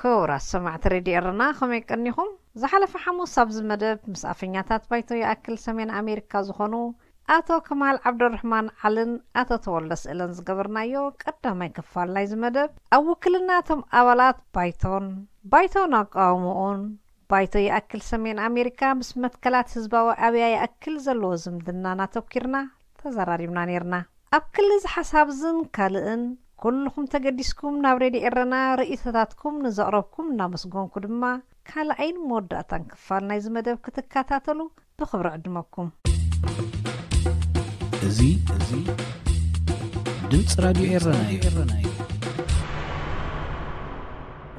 ክቡራት ሰማዕቲ ሬድዮ ኤረና፣ ከመይ ቀኒኹም? ዝሓለፈ ሓሙስ ኣብዚ መደብ ምስ ኣፈኛታት ባይቶ ይኣክል ሰሜን ኣሜሪካ ዝኾኑ ኣቶ ከማል ዓብደርሕማን ዓልን ኣቶ ተወልደ ስእለን ዝገበርናዮ ቀዳማይ ክፋል ናይዚ መደብ፣ ኣብ ውክልና እቶም ኣባላት ባይቶን ባይቶን ኣቃውምኡን፣ ባይቶ ይኣክል ሰሜን ኣሜሪካ ምስ መትከላት ህዝባዊ ኣብያ ይኣክል ዘለዎ ዝምድናን ኣተኲርና ተዘራሪብና ነይርና። ኣብ ክሊ እዚ ሓሳብ ዝን ካልእን ኩልኹም ተገዲስኩም ናብ ሬድዮ ኤረና ርእይቶታትኩም ንዘቕረብኩም እናመስገንኩ ድማ፣ ካልኣይን መወዳእታን ክፋል ናይዚ መደብ ክትከታተሉ ብኽብሪ ዕድመኩም። እዚ፣ እዚ ድምፂ ራድዮ ኤረና እዩ።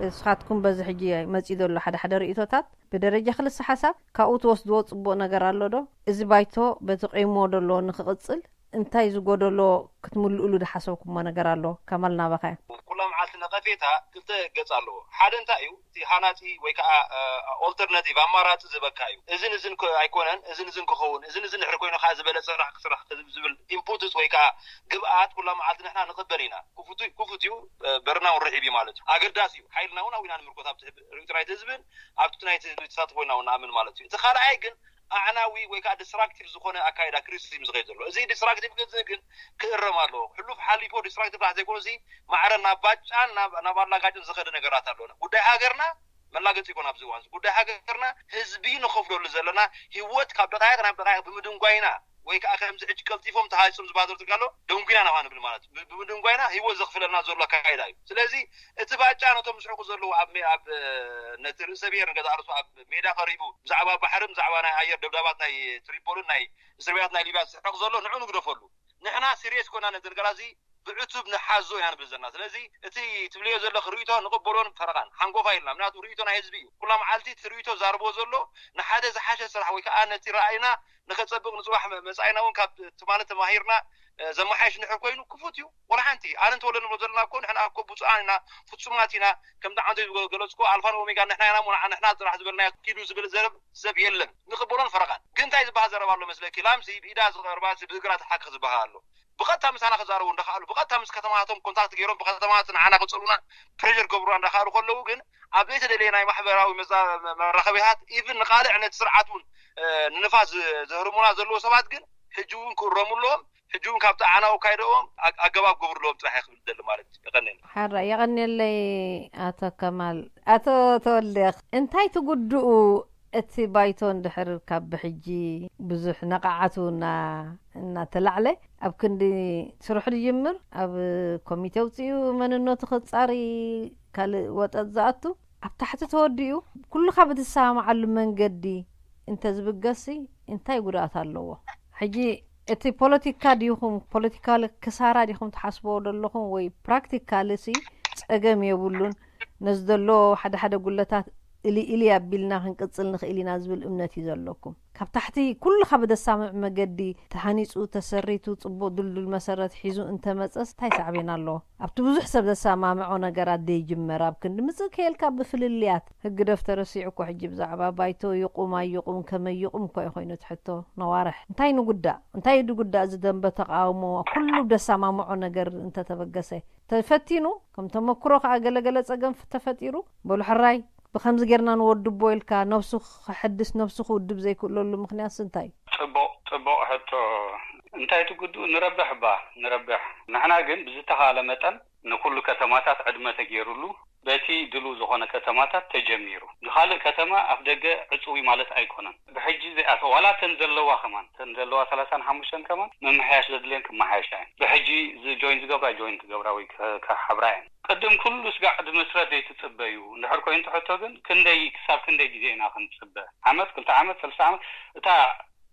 ንስኻትኩም በዚ ሕጂ መፂኡ ዘሎ ሓደ ሓደ ርእይቶታት ብደረጃ ክልሰ ሓሳብ ካብኡ ትወስድዎ ፅቡቕ ነገር ኣሎ ዶ? እዚ ባይቶ በቲ ቆይሞ ዘሎ ንክቕፅል እንታይ ዝጎደሎ ክትምልእሉ ዝሓሰብኩሞ ነገር ኣሎ? ከማል ናባኻ እየ። ኩላ መዓልቲ ነቐፌታ ክልተ ገፅ ኣለዎ። ሓደ እንታይ እዩ? እቲ ሃናፂ ወይ ከዓ ኦልተርናቲቭ ኣማራፂ ዝበካ እዩ። እዝን እዝን ከ-፣ ኣይኮነን፣ እዝን እዝን ክኸውን፣ እዝን እዝን ድሕሪ ኮይኑ ከዓ ዝበለፀ ስራሕ ክስራሕ ዝብል ኢንፑትስ ወይ ከዓ ግብኣት ኩላ መዓልቲ ንሕና ንቕበል ኢና። ክፉት ክፉት እዩ፣ በርና እውን ርሒብ እዩ ማለት እዩ። ኣገዳሲ እዩ። ሓይልና እውን ኣብኡ ኢና ንምርኮት፣ ኣብቲ ርኢቶ ናይቲ ህዝብን ኣብቲ ናይቲ ህዝቢ ተሳትፎ ኢና እውን ንኣምን ማለት እዩ። እቲ ካልኣይ ግን ኣዕናዊ ወይ ከዓ ዲስትራክቲቭ ዝኾነ ኣካይዳ ክሪቲሲዝም ዝኸይድ ዘሎ። እዚ ዲስትራክቲቭ ግን ግን ክእረም ኣለዎ። ሕሉፍ ሓሊፎ ዲስትራክቲቭ ጥራሕ ዘይኮነ፣ እዚ ማዕረ ናብ ባጫን ናብ፣ ናብ ኣላጋጭን ዝኸደ ነገራት ኣለዎ። ጉዳይ ሃገርና መላገፂ ይኮን ኣብዚ እዋን እዚ። ጉዳይ ሃገርና ህዝቢ ንኸፍለሉ ዘለና ህይወት ካብ ደቃይቅ ናብ ደቃይቅ ብምድንጓይና ወይ ከዓ ከምዚ ሕጂ ቀልጢፎም ተሃይጾም ዝባደሩ ትካሎ ደንጉና ናኻ ንብል ማለት እዩ። ብ-፣ ብምድንጓይና ህይወት ዘኽፍለልና ዘሎ ኣካይዳ እዩ። ስለዚ እቲ ባጫ ነቶም ዝስሕቁ ዘለዉ ኣብ ሜ-፣ ኣብ፣ እ፣ ነቲ ርእሰ ብሔር ንገዛእ ርእሱ ኣብ ሜዳ ቀሪቡ ብዛዕባ ባሕርን ብዛዕባ ናይ ኣየር ደብዳባት ናይ ትሪፖልን ናይ እስር ቤታት ናይ ሊብያ ዝስሕቅ ዘሎ ንዑ ንግደፈሉ። ንሕና ሲሪየስ ኮና ነዚ ነገር እዚ ብዕቱብ ንሓዞ ኢና ንብል ዘለና። ስለዚ እቲ ትብልዮ ዘለኺ ርእይቶ ንቕበሎን ፈረቓን ሓንጎፋ ኢልና። ምክንያቱ ርእይቶ ናይ ህዝቢ እዩ። ኩላ መዓልቲ እቲ ርእይቶ ዛርቦ ዘሎ ንሓደ ዝሓሸ ስራሕ ወይ ከዓ ነቲ ራእይና ንኸጸብቕ ንጽባሕ መ-፣ መጻኢና እውን ካብ ትማሊ ተማሂርና፣ እ፣ ዘመሓየሽ እንድሕር ኮይኑ ክፉት እዩ። ወላ ሓንቲ። ኣነ እንተወለ ንብሎ ዘለና እኮ ንሕና እኮ ብፁዓን ኢና፣ ፍጹማት ኢና፣ ከምቲ ዓንቶ ዝገ-፣ ገለጽኩ ኣልፋን ኦሜጋን ንሕና ኢና እሞ ንዓ ንሕና ጥራሕ ዝበልናዮ ኪዱ ዝብል ዘረብ ሰብ የለን። ንቕበሎን ፈረቓን። ግን እንታይ ዝበሃል ዘረባ ኣሎ መስለኪ? ላምሲ ብኢዳ ዝቐርባሲ ብእግራ ትሓክኽ ዝበሃል ኣሎ። ብቐጥታ ምሳና ክዛረቡ እንዳኸኣሉ፣ ብቐጥታ ምስ ከተማታቶም ኮንታክት ገይሮም፣ ብከተማታት ንዓና ክጸልኡና ፕሬሸር ክገብሩና እንዳኸኣሉ ከለዉ ግን፣ ኣብ ዘይተደለየ ናይ ማሕበራዊ መዛ-፣ መራኸቢታት፣ ኢቭን ንቓልዕ ነቲ ስርዓት እውን፣ እ፣ ንንፋስ ዝ-፣ ዘህርሙና ዘለዉ ሰባት ግን፣ ሕጂ እውን ክእረሙ ኣለዎም። ሕጂ እውን ካብቲ ኣዕናዊ ኣካይዳኦም ኣ-፣ ኣገባብ ክገብሩ ኣለዎም ጥራሕ እየ ክብል ዝደሊ ማለት እዩ። የቐንየለይ። ሓራ፣ የቐንየለይ ኣቶ ከማል። ኣቶ ተወልደ፣ እንታይ ትጉድኡ እቲ ባይቶ እንድሕር ካብ ብሕጂ ብዙሕ ነቓዓቱ እና-፣ እናተላዕለ ኣብ ክንዲ ስርሑ ዝጅምር፣ ኣብ ኮሚቴ ኣውፂኡ መንነቱ ክፃሪ ካልእ ወጠጥ ዝኣቱ ኣብ ታሕቲ ተወዲኡ ኩልኻ ብትሰማማዓሉ መንገዲ እንተዝብገስሲ እንታይ ጉድኣት ኣለዎ? ሕጂ እቲ ፖለቲካ ዲኹም፣ ፖለቲካል ክሳራ ዲኹም ትሓስብዎ ዘለኹም ወይ ፕራክቲካሊ ሲ ፀገም የብሉን፣ ነዚ ዘሎ ሓደ ሓደ ጉለታት እሊ እሊ ኣቢልና ክንቅፅል ንኽእል ኢና ዝብል እምነት እዩ ዘለኩም? ካብ ታሕቲ ኩልኻ ብደሳምዕ መገዲ ተሃኒፁ፣ ተሰሪቱ፣ ፅቡቕ ድልዱል መሰረት ሒዙ እንተመፀስ እንታይ ሳዕቤን ኣለዎ? ኣብቲ ብዙሕ ሰብ ዘሰማምዖ ነገራት ዘይጅመር ኣብ ክንዲ ምፅእ ከየልካ ብፍልልያት ህግደፍ ተረሲዑ እኮ ሕጂ ብዛዕባ ባይቶ ይቑም ኣይቑም ከመይ ይቑም እኮ እዩ ኮይኑ እቲ ሕቶ ነዋርሕ። እንታይ ንጉዳእ? እንታይ ድጉዳእ እዚ ደንበ ተቓውሞ ኩሉ ብደሰማምዖ ነገር እንተተበገሰ? ተፈቲኑ፣ ከም ተመክሮ ከኣ ገለገለ ጸገም ፍ-፣ ተፈጢሩ፣ በሉ ሕራይ ብኸምዚ ጌርና ንወድቦ ኢልካ ነብሱ ክሕድስ ነብሱ ክውድብ ዘይክእለሉ ምኽንያትስ እንታይ እዩ? ጽቡቕ፣ ጽቡቕ ሕቶ። እንታይ ትጉድኡ? ንረብሕ እባ፣ ንረብሕ። ንሕና ግን ብዝተኻእለ መጠን ንኹሉ ከተማታት ዕድመ ተገይሩሉ፣ በቲ ድሉው ዝኾነ ከተማታት ተጀሚሩ። ንኻልእ ከተማ ኣፍ ደገ ዕጽዊ ማለት ኣይኮነን። ብሕጂ ዘይኣተዋ፣ ዋላ እተን ዘለዋ ከማን፣ እተን ዘለዋ ሰላሳን ሓሙሽተን ከማን ምምሕያሽ ዘድልየን ክመሓየሻ እየን። ብሕጂ ዝ-፣ ጆይን ዝገብራ ጆይን ክገብራ ወይ ከ-፣ ክሓብራ እየን። ቅድም ኩሉ ስጋዕ ድምስረት ዘይትጽበዩ እንድሕር ኮይኑ ትሕቶ ግን ክንደይ፣ ክሳብ ክንደይ ግዜ ኢና ክንጽበ? ዓመት፣ ክልተ ዓመት፣ ሰለስተ ዓመት? እታ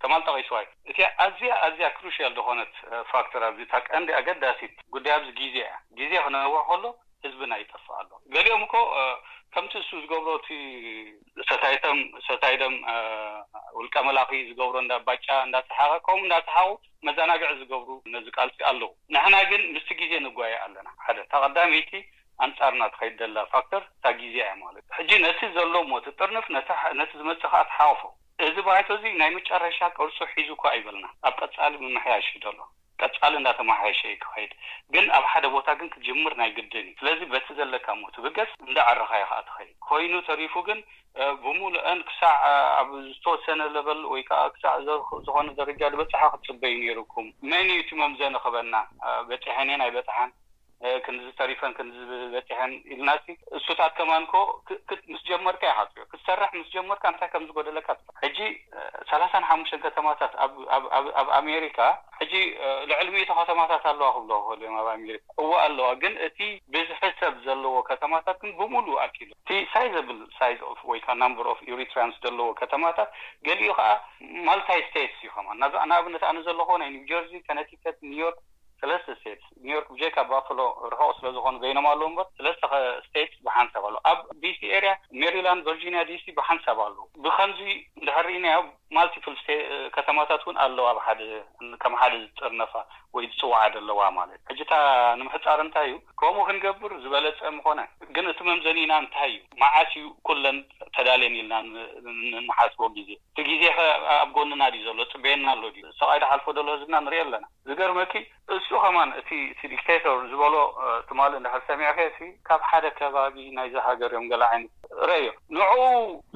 ከማል ጠቒስዋ እዩ። እቲኣ ኣዝያ፣ ኣዝያ ክሩሽያል ዝኾነት፣ እ፣ ፋክተር ኣብዚ፣ እታ ቀንዲ ኣገዳሲት ጉዳይ ኣብዚ ግዜ እያ። ግዜ ክነውሕ ከሎ ህዝብና ይጠፍእ ኣሎ። ገሊኦም እኮ፣ እ፣ ከምቲ እሱ ዝገብሮ፣ እቲ ሰታይቶም፣ ሰታይዶም፣ እ፣ ውልቀ መላኺ ዝገብሮ እንዳ ባጫ እንዳሰሓቐ፣ ከምኡ እንዳሰሓቑ መዘናግዒ ዝገብሩ ነዚ ቃልሲ ኣለዉ። ንሕና ግን ምስቲ ግዜ ንጓየ ኣለና። ሓደ፣ እታ ቀዳመይቲ ኣንጻርና ትኸይድ ዘላ ፋክተር እታ ግዜ እያ ማለት እዩ። ሕጂ ነቲ ዘሎ እሞ ትጥርንፍ፣ ነቲ ሐ-፣ ነቲ ዝመጽእ ከኣ ትሓቑፎ። እዚ ባይቶ እዚ ናይ መጨረሻ ቅርጹ ሒዙ እኳ ኣይበልና። ኣብ ቀጻሊ ምምሕያሽ እዩ ዘሎ። ቀጻሊ እንዳተማሓየሸ እዩ ክኸይድ። ግን ኣብ ሓደ ቦታ ግን ክትጅምር ናይ ግድን እዩ። ስለዚ በቲ ዘለካ እሞ ትብገስ፣ እንዳዕረኻ ኢኻ ትኸይድ። ኮይኑ ተሪፉ ግን ብሙሉአን ክሳዕ ኣብ ዝተወሰነ ለበል ወይ ከዓ ክሳዕ ዝኾነ ደረጃ ዝበፅሓ ክትፅበዩ ነይሩኩም። መን እዩ እቲ መምዘኒ ክበና? በፂሐን እየን ኣይበፅሓን፣ ክንዚ ተሪፈን ክንዚ በፂሐን ኢልናሲ። እሱታት ከማንኮ ምስ ጀመርካ ይሓፅዮ ክትሰርሕ ምስ ጀመርካ እንታይ ከም ዝጎደለካ። ሕጂ ሰላሳን ሓሙሽተን ከተማታት ኣብ ኣሜሪካ ሕጂ ልዕሊ ሚእቲ ከተማታት ኣለዋ ክብሎ ክኽእል እዮም ኣብ ኣሜሪካ። እዎ ኣለዋ፣ ግን እቲ ብዝሒ ሰብ ዘለዎ ከተማታት ግን ብምሉኡ ኣኪሉ እቲ ሳይዘብል ሳይዝ ኦፍ ወይ ከዓ ናምበር ኦፍ ኢሪትሪያንስ ዘለዎ ከተማታት ገሊኡ ከዓ ማልታይ ስቴትስ እዩ። ከማን ንኣብነት ኣነ ዘለኹ ናይ ኒው ጀርዚ፣ ከነቲከት፣ ኒውዮርክ ሰለስተ ስቴትስ። ኒውዮርክ ብጀካ ባፍሎ ርሑቕ ስለ ዝኾኑ በይኖም ኣለዉ እምበር ሰለስተ ስቴትስ ብሓንሳብ ኣለዉ። ኣብ ዲሲ ኤርያ፣ ሜሪላንድ፣ ቨርጂኒያ ዲሲ ብሓንሳብ ኣለዉ። ብከምዚ እንድሕር ርኢናዮ ማልቲፕል ከተማታት እውን ኣለዋ ኣብ ሓደ ከም ሓደ ዝጥርነፋ ወይ ዝፅውዓ ዘለዋ ማለት። ሕጂ እታ ንምሕፃር እንታይ እዩ ከምኡ ክንገብር ዝበለፀ ምኾነ። ግን እቲ መምዘኒና እንታይ እዩ? መዓስ እዩ ኩለን ተዳልየን ኢልና ንሓስቦ ግዜ? እቲ ግዜ ከ ኣብ ጎንና ድዩ ዘሎ? ፅበየና ኣሎ ድዩ? ሰብኣይ ዝሓልፎ ዘሎ ህዝብና ንሪኦ ኣለና። ዝገርመኪ እሱ ከማን እቲ እቲ ዲክቴተር ዝበሎ ትማሊ እንድሕር ሰሚዕከ ሲ ካብ ሓደ ከባቢ ናይዚ ሃገር እዮም ገለ ዓይነት ረእዮ ንዕኡ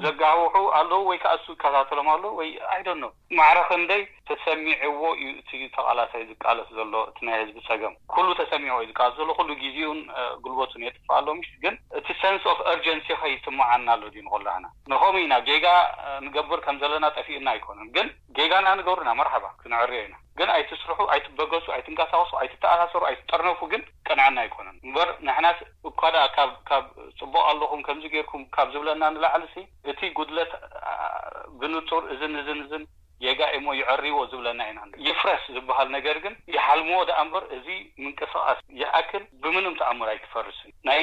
ዘጋውሑ ኣለዉ ወይ ከዓ እሱ ይከታተሎም ኣለዉ ወይ ኣይደኖ ማዕረ ክንደይ ተሰሚዕዎ እዩ እቲ ተቃላሳይ ዝቃለስ ዘሎ። እቲ ናይ ህዝቢ ፀገም ኩሉ ተሰሚዕዎ እዩ ዝቃለስ ዘሎ። ኩሉ ግዜኡን ጉልበቱን የጥፍእ ኣሎ ምሽ ግን እቲ ሰንስ ኦፍ እርጀንሲ ከይስምዓና ኣሎ ድዩ ንኮላህና ንኸምኡ ኢና ጌጋ ንገብር ከም ዘለና ጠፊእና ኣይኮነን ግን ጌጋና ንገብርና መርሓባ ክንዕርዮ ኢና። ግን ኣይትስርሑ፣ ኣይትበገሱ፣ ኣይትንቀሳቀሱ፣ ኣይትተኣሳሰሩ፣ ኣይትጠርነፉ ግን ቅንዕና ኣይኮነን እምበር ንሕናስ እኳ ደኣ ካብ ካብ ፅቡቅ ኣለኹም ከምዚ ጌርኩም ካብ ዝብለና ንላዕሊ ሲ እቲ ጉድለት ብንፁር እዝን እዝን እዝን ጌጋ እሞ ይዕርይዎ ዝብለና ኢና። ይፍረስ ዝበሃል ነገር ግን ይሓልምዎ ደኣ እምበር እዚ ምንቅስቃስ ይኣክል ብምንም ተኣምር ኣይክፈርስን። ናይ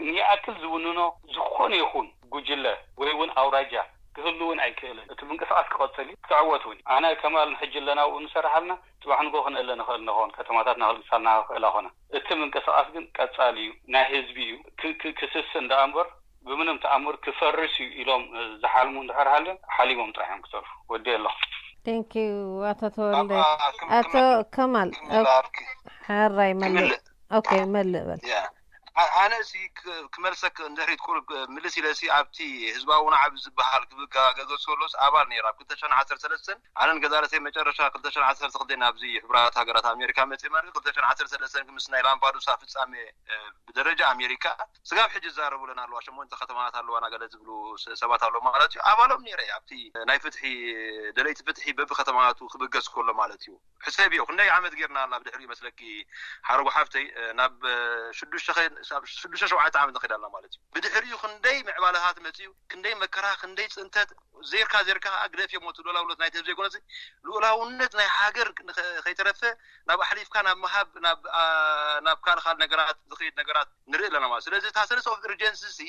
ንይኣክል ዝውንኖ ዝኾነ ይኹን ጉጅለ ወይ እውን ኣውራጃ ክህሉ እውን ኣይክእልን። እቲ ምንቅስቃስ ክቐፅል እዩ፣ ክዕወት እውን እዩ። ኣነ ከማል ንሕጂ ኣለና ኣብኡ ንሰርሕ ኣለና፣ ፅባሕ ንጎ ክንእለ ንኽእል ንኸውን፣ ከተማታትና ክልግሳልና ክኽእላ ኾና። እቲ ምንቅስቃስ ግን ቀፃሊ እዩ፣ ናይ ህዝቢ እዩ። ክስስን ደኣ እምበር ብምንም ተኣምር ክፈርስ እዩ ኢሎም ዝሓልሙ እንድሕር ሃልዮም ሓሊሞም ጥራሕ እዮም ክተርፉ። ወዲ ኣለኹ። ቴንኪዩ ኣቶ ተወልደ። ኣቶ ከማል ሓራይ መልእ። ኦኬ መልእ በል። ኣነ ሲ ክመልሰክ እንድሕሪት ቁሩብ ምልስ ኢለ ሲ ኣብቲ ህዝባዊ ናዕቢ ዝበሃል ክብጋገዘ ከሎስ ኣባል ነይረ ኣብ ክልተ ሽሕን ዓሰርተ ሰለስተን ኣነን ገዛለተይ መጨረሻ ክልተ ሽሕን ዓሰርተ ክልተን ኣብዚ ሕቡራት ሃገራት ኣሜሪካ መፅእ ማለት ክልተ ሽሕን ዓሰርተ ሰለስተን ምስ ናይ ላምፓዱሳ ፍፃሜ ብደረጃ ኣሜሪካ ስጋብ ሕጂ ዝዛረቡለን ኣለዋ ሸሞንተ ከተማታት ኣለዋና ገለ ዝብሉ ሰባት ኣለዉ ማለት እዩ ኣባሎም ነይረ ኣብቲ ናይ ፍትሒ ደለይቲ ፍትሒ በቢ ከተማቱ ክብገስ ከሎ ማለት እዩ ሕሰብዮ ክንደይ ዓመት ጌርና ናብ ድሕሪኡ መስለኪ ሓረጉ ሓፍተይ ናብ ሽዱሽተ ሸውዓተ ዓመት ንኸይድ ኣለና ማለት እዩ ብድሕሪኡ ክንደይ ምዕባለታት መፅኡ ክንደይ መከራ ክንደይ ፅንተት ዜርካ ዜርካ ከዓ ግደፍ እሞ ትብሎ ላውሎት ናይ ተብ ዘይኮነሲ ልኡላውነት ናይ ሃገር ከይተረፈ ናብ ኣሕሊፍካ ናብ ምሃብ ናብ ካልእ ካልእ ነገራት ዝኸይድ ነገራት ንርኢ ኣለና ማለት ስለዚ እታ ሰለስተ ኦፍ ኢርጀንሲ ሲ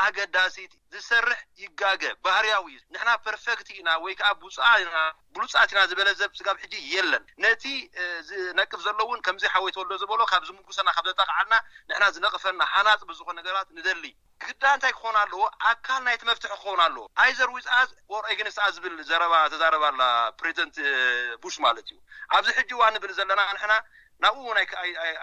ኣገዳሲት ዝሰርሕ ይጋገ ባህርያዊ እዩ ንሕና ፐርፌክት ኢና ወይ ከዓ ብፁዓ ኢና ብሉፃት ኢና ዝበለ ዘብ ስጋብ ሕጂ የለን ነቲ ዝነቅፍ ዘሎ እውን ከምዚ ሓወይ ተወልዶ ዝበሎ ካብ ዝምጉሰና ካብ ዘጣቃዓልና ንሕና ዝነቅፈና ሃናፂ ብዝኾነ ነገራት ንደሊ ግዳ እንታይ ክኾን ኣለዎ ኣካል ናይቲ መፍትሒ ክኸውን ኣለዎ either with us or against us ዝብል ዘረባ ተዛረባ ኣላ ፕሬዚደንት ቡሽ ማለት እዩ ኣብዚ ሕጂ እዋን ንብል ዘለና ንሕና ናብኡ እውን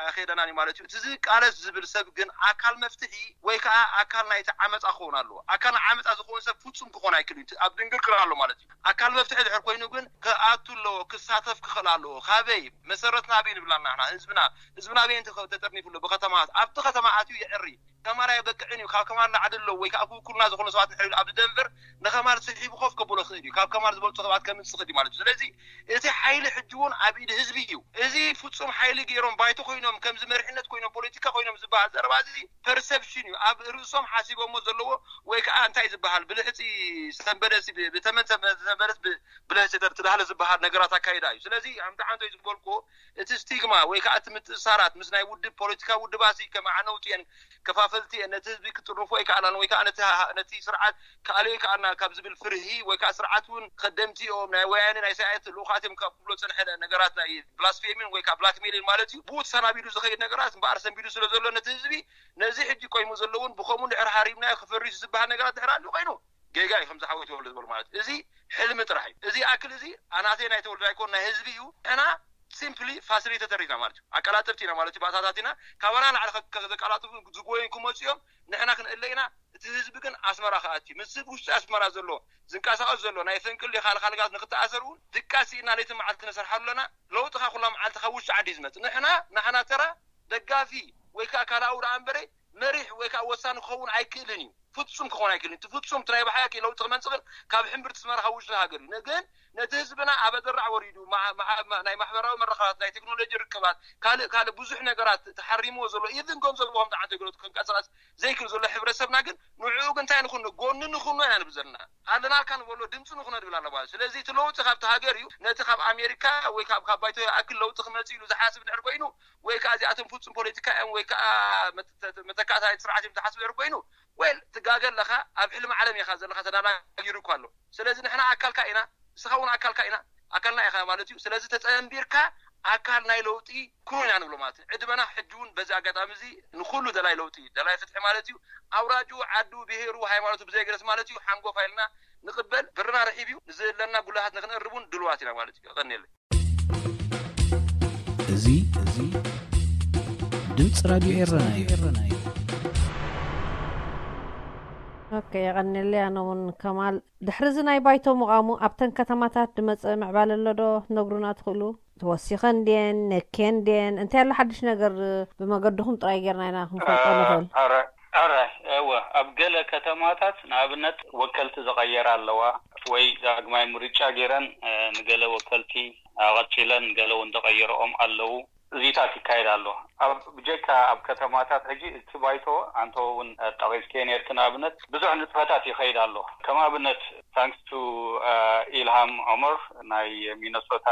ኣይከደናን እዩ ማለት እዩ እቲ ዝቃለስ ዝብል ሰብ ግን ኣካል መፍትሒ ወይ ከዓ ኣካል ናይቲ ዓመፃ ክኸውን ኣለዎ ኣካል ዓመፃ ዝኸውን ሰብ ፍፁም ክኾን ኣይክእል እዩ ኣብ ድንግርግር ኣሎ ማለት እዩ ኣካል መፍትሒ ድሕር ኮይኑ ግን ክኣቱ ኣለዎ ክሳተፍ ክኽእል ኣለዎ ካበይ መሰረትና ኣበይ ንብላና ንሕና ህዝብና ህዝብና ኣበይ ተጠርኒፉ ኣሎ ብከተማታት ኣብቲ ከተማ ኣትዩ የዕሪ ከማል ኣይበቅዕን እዩ ካብ ከማል ላዕሊ ኣለዉ ወይ ከዓ ክውክሉና ዝኾኑ ሰባት ንሕሪ ኣብዚ ደንቨር ንከማል ስሒቡ ኮፍ ከብሎ ክእል እዩ ካብ ከማል ዝበልፁ ሰባት ከምፅእ ክእል እዩ ማለት እዩ ስለዚ እቲ ሓይሊ ሕጂ እውን ኣብ ኢድ ህዝቢ እዩ እዚ ፍፁም ሓይሊ ገይሮም ባይቶ ኮይኖም ከምዚ መሪሕነት ኮይኖም ፖለቲካ ኮይኖም ዝበሃል ዘረባ እዚ ፐርሰፕሽን እዩ ኣብ ርእሶም ሓሲቦሞ ዘለዎ ወይ ከዓ እንታይ ዝበሃል ብልሕፂ ሰንበደስ ብተመን ሰንበደስ ብልሕፂ ተዳህለ ዝበሃል ነገራት ኣካይዳ እዩ ስለዚ ሓምቲ ሓንቶ እዩ ዝበልኩዎ እቲ ስቲግማ ወይ ከዓ እቲ ምትእሳራት ምስ ናይ ውድብ ፖለቲካ ውድባሲ ከመዓነውቲ እየን ከፋፈልቲ እየን ነቲ ህዝቢ ክጥርንፎ ኣይከኣላን ወይ ከዓ ነቲ ስርዓት ክኣልዮ ኣይከኣልና ካብ ዝብል ፍርሂ ወይ ከዓ ስርዓት እውን ከደምቲ እዮም ናይ ወያነ ናይ ሳያት ልኡኻት እዮም ካብ ክብሎ ፀንሐ ነገራት ናይ ብላስፌሚን ወይ ከዓ ብላክሜሊን ማለት እዩ ብኡ ተሰናቢዱ ዝኸይድ ነገራት እምበኣር ሰንቢዱ ስለ ዘሎ ነቲ ህዝቢ ነዚ ሕጂ ቆይሙ ዘለውን ብከምኡ ድሕር ሃሪምናዮ ክፈሪሱ ዝበሃል ነገራት ድሕር ኣሉ ኮይኑ ጌጋ እዩ ከምዚ ሓወይ ተወልደ ዝበሉ ማለት እዚ ሕልሚ ጥራሕ እዩ እዚ ኣክል እዚ ኣናተይ ናይ ተወልደ ኣይኮን ናይ ህዝቢ እዩ ሕና ሲምፕሊ ፋሲሊቴተር ኢና ማለት እዩ። ኣቀላጥፍቲ ኢና ማለት እዩ። ባእታታት ኢና ካባና ላዕሊ ከ- ከ- ዘቀላጥፉ ዝጎይን ክመፁ እዮም። ንሕና ክንእለ ኢና። እቲ ህዝቢ ግን ኣስመራ ክኣቲ ምስ ህዝቢ ውሽጢ ኣስመራ ዘሎ ዝንቀሳቀስ ዘሎ ናይ ፈንቅል ካልካልጋት ንክተኣሰር እውን ድቃስ ኢና ለይቲ መዓልቲ ነሰርሓሉ ኣለና። ለውጢ ካብ ኩላ መዓልቲ ካብ ውሽጢ ዓዲ እዩ ዝመፅእ። ንሕና ናሕና ተራ ደጋፊ ወይ ከዓ ካልኣዊ ደኣ እምበረ መሪሕ ወይ ከዓ ወሳኒ ክኸውን ኣይክእልን እዩ። ፍጹም ክኸውን ኣይክእልን እዩ። ፍጹም እቲ ናይ ብሓቂ ለውጢ ክመንፅእ ግን ካብ ሕምብርቲ ኣስመራ ካብ ውሽጢ ሃገር እዩ። ግን ነቲ ህዝብና ኣብ ኣደራዕ ወሪዱ ማ- ማ- ማ- ናይ ማሕበራዊ መራኸባት ናይ ቴክኖሎጂ ርክባት ካልእ ካልእ ብዙሕ ነገራት ተሓሪምዎ ዘሎ ኢቭን ገንዘቡ ከም ተዓንተ ገለቱ ክንቀሳቀስ ዘይክእል ዘሎ ሕብረተሰብና ግን ንዕኡ ግን እንታይ ንኹን ጎኒ ንኹኖ ኢና ንብል ዘለና። ኣለናልካ ንበሎ ድምፂ ንኹኖ ንብል ኣለና ማለት እዩ። ስለዚ እቲ ለውጢ ካብቲ ሃገር እዩ። ነቲ ካብ ኣሜሪካ ወይ ካብ ካብ ባይቶ ይኣክል ለውጢ ክመፅእ ኢሉ ዝሓስብ ድሕር ኮይኑ ወይ ከዓ እዚኣቶም ፍፁም ፖለቲካ እዮም ወይ ከዓ መተ- መተካእታ ናይቲ ስርዓት እዮም ዝሓስብ ድሕር ኮይኑ ወይ ትጋገ ኣለካ። ኣብ ሕልሚ ዓለም ኢኻ ዘለካ ተዳናጊሩ እኳ ኣሎ። ስለዚ ንሕና ኣካልካ ኢና፣ ንስኻ እውን ኣካልካ ኢና ኣካልና ኢኻ ማለት እዩ። ስለዚ ተፀንቢርካ ኣካል ናይ ለውጢ ኩን ኢና ንብሎ ማለት እዩ። ዕድመና ሕጂ እውን በዚ ኣጋጣሚ እዚ ንኩሉ ደላይ ለውጢ ደላይ ፍትሒ ማለት እዩ ኣውራጁ ዓዱ ብሄሩ ሃይማኖቱ ብዘይገደስ ማለት እዩ ሓንጎፋ ኢልና ንቕበል። ብርና ርሒብ እዩ። ንዝህለና ጉልሃት ንክንእርብ እውን ድልዋት ኢና ማለት እዩ። ቀኒለ እዚ እዚ ድምፂ ራድዮ ኤረና እዩ። ኦኬ፣ የቐንየለይ። ኣነ እውን ከማል ድሕሪ እዚ ናይ ባይቶ ምቓሙ ኣብተን ከተማታት ድመፀ ምዕባለ ኣሎ ዶ ትነግሩና ትኽእሉ? ተወሲኸን ድየን ነክየን ድየን እንታይ ኣሎ ሓድሽ ነገር? ብመገድኹም ጥራይ ጌርና ኢና ክንፈልጦ ንኽእል። ኣረ ኣረ እወ ኣብ ገለ ከተማታት ንኣብነት ወከልቲ ዝቐየራ ኣለዋ ወይ ዳግማይ ምርጫ ገይረን ንገለ ወከልቲ ኣቐፂለን ገለ እውን ዝቐየረኦም ኣለዉ። እዚታት ይካየድ ኣሎ። ኣብ ብጀካ ኣብ ከተማታት ሕጂ እቲ ባይቶ ኣንተ እውን ጠቒስከ ነርክ ንኣብነት ብዙሕ ንጥፈታት ይኸይድ ኣሎ። ከም ኣብነት ታንክስ ቱ ኢልሃም ዑመር ናይ ሚነሶታ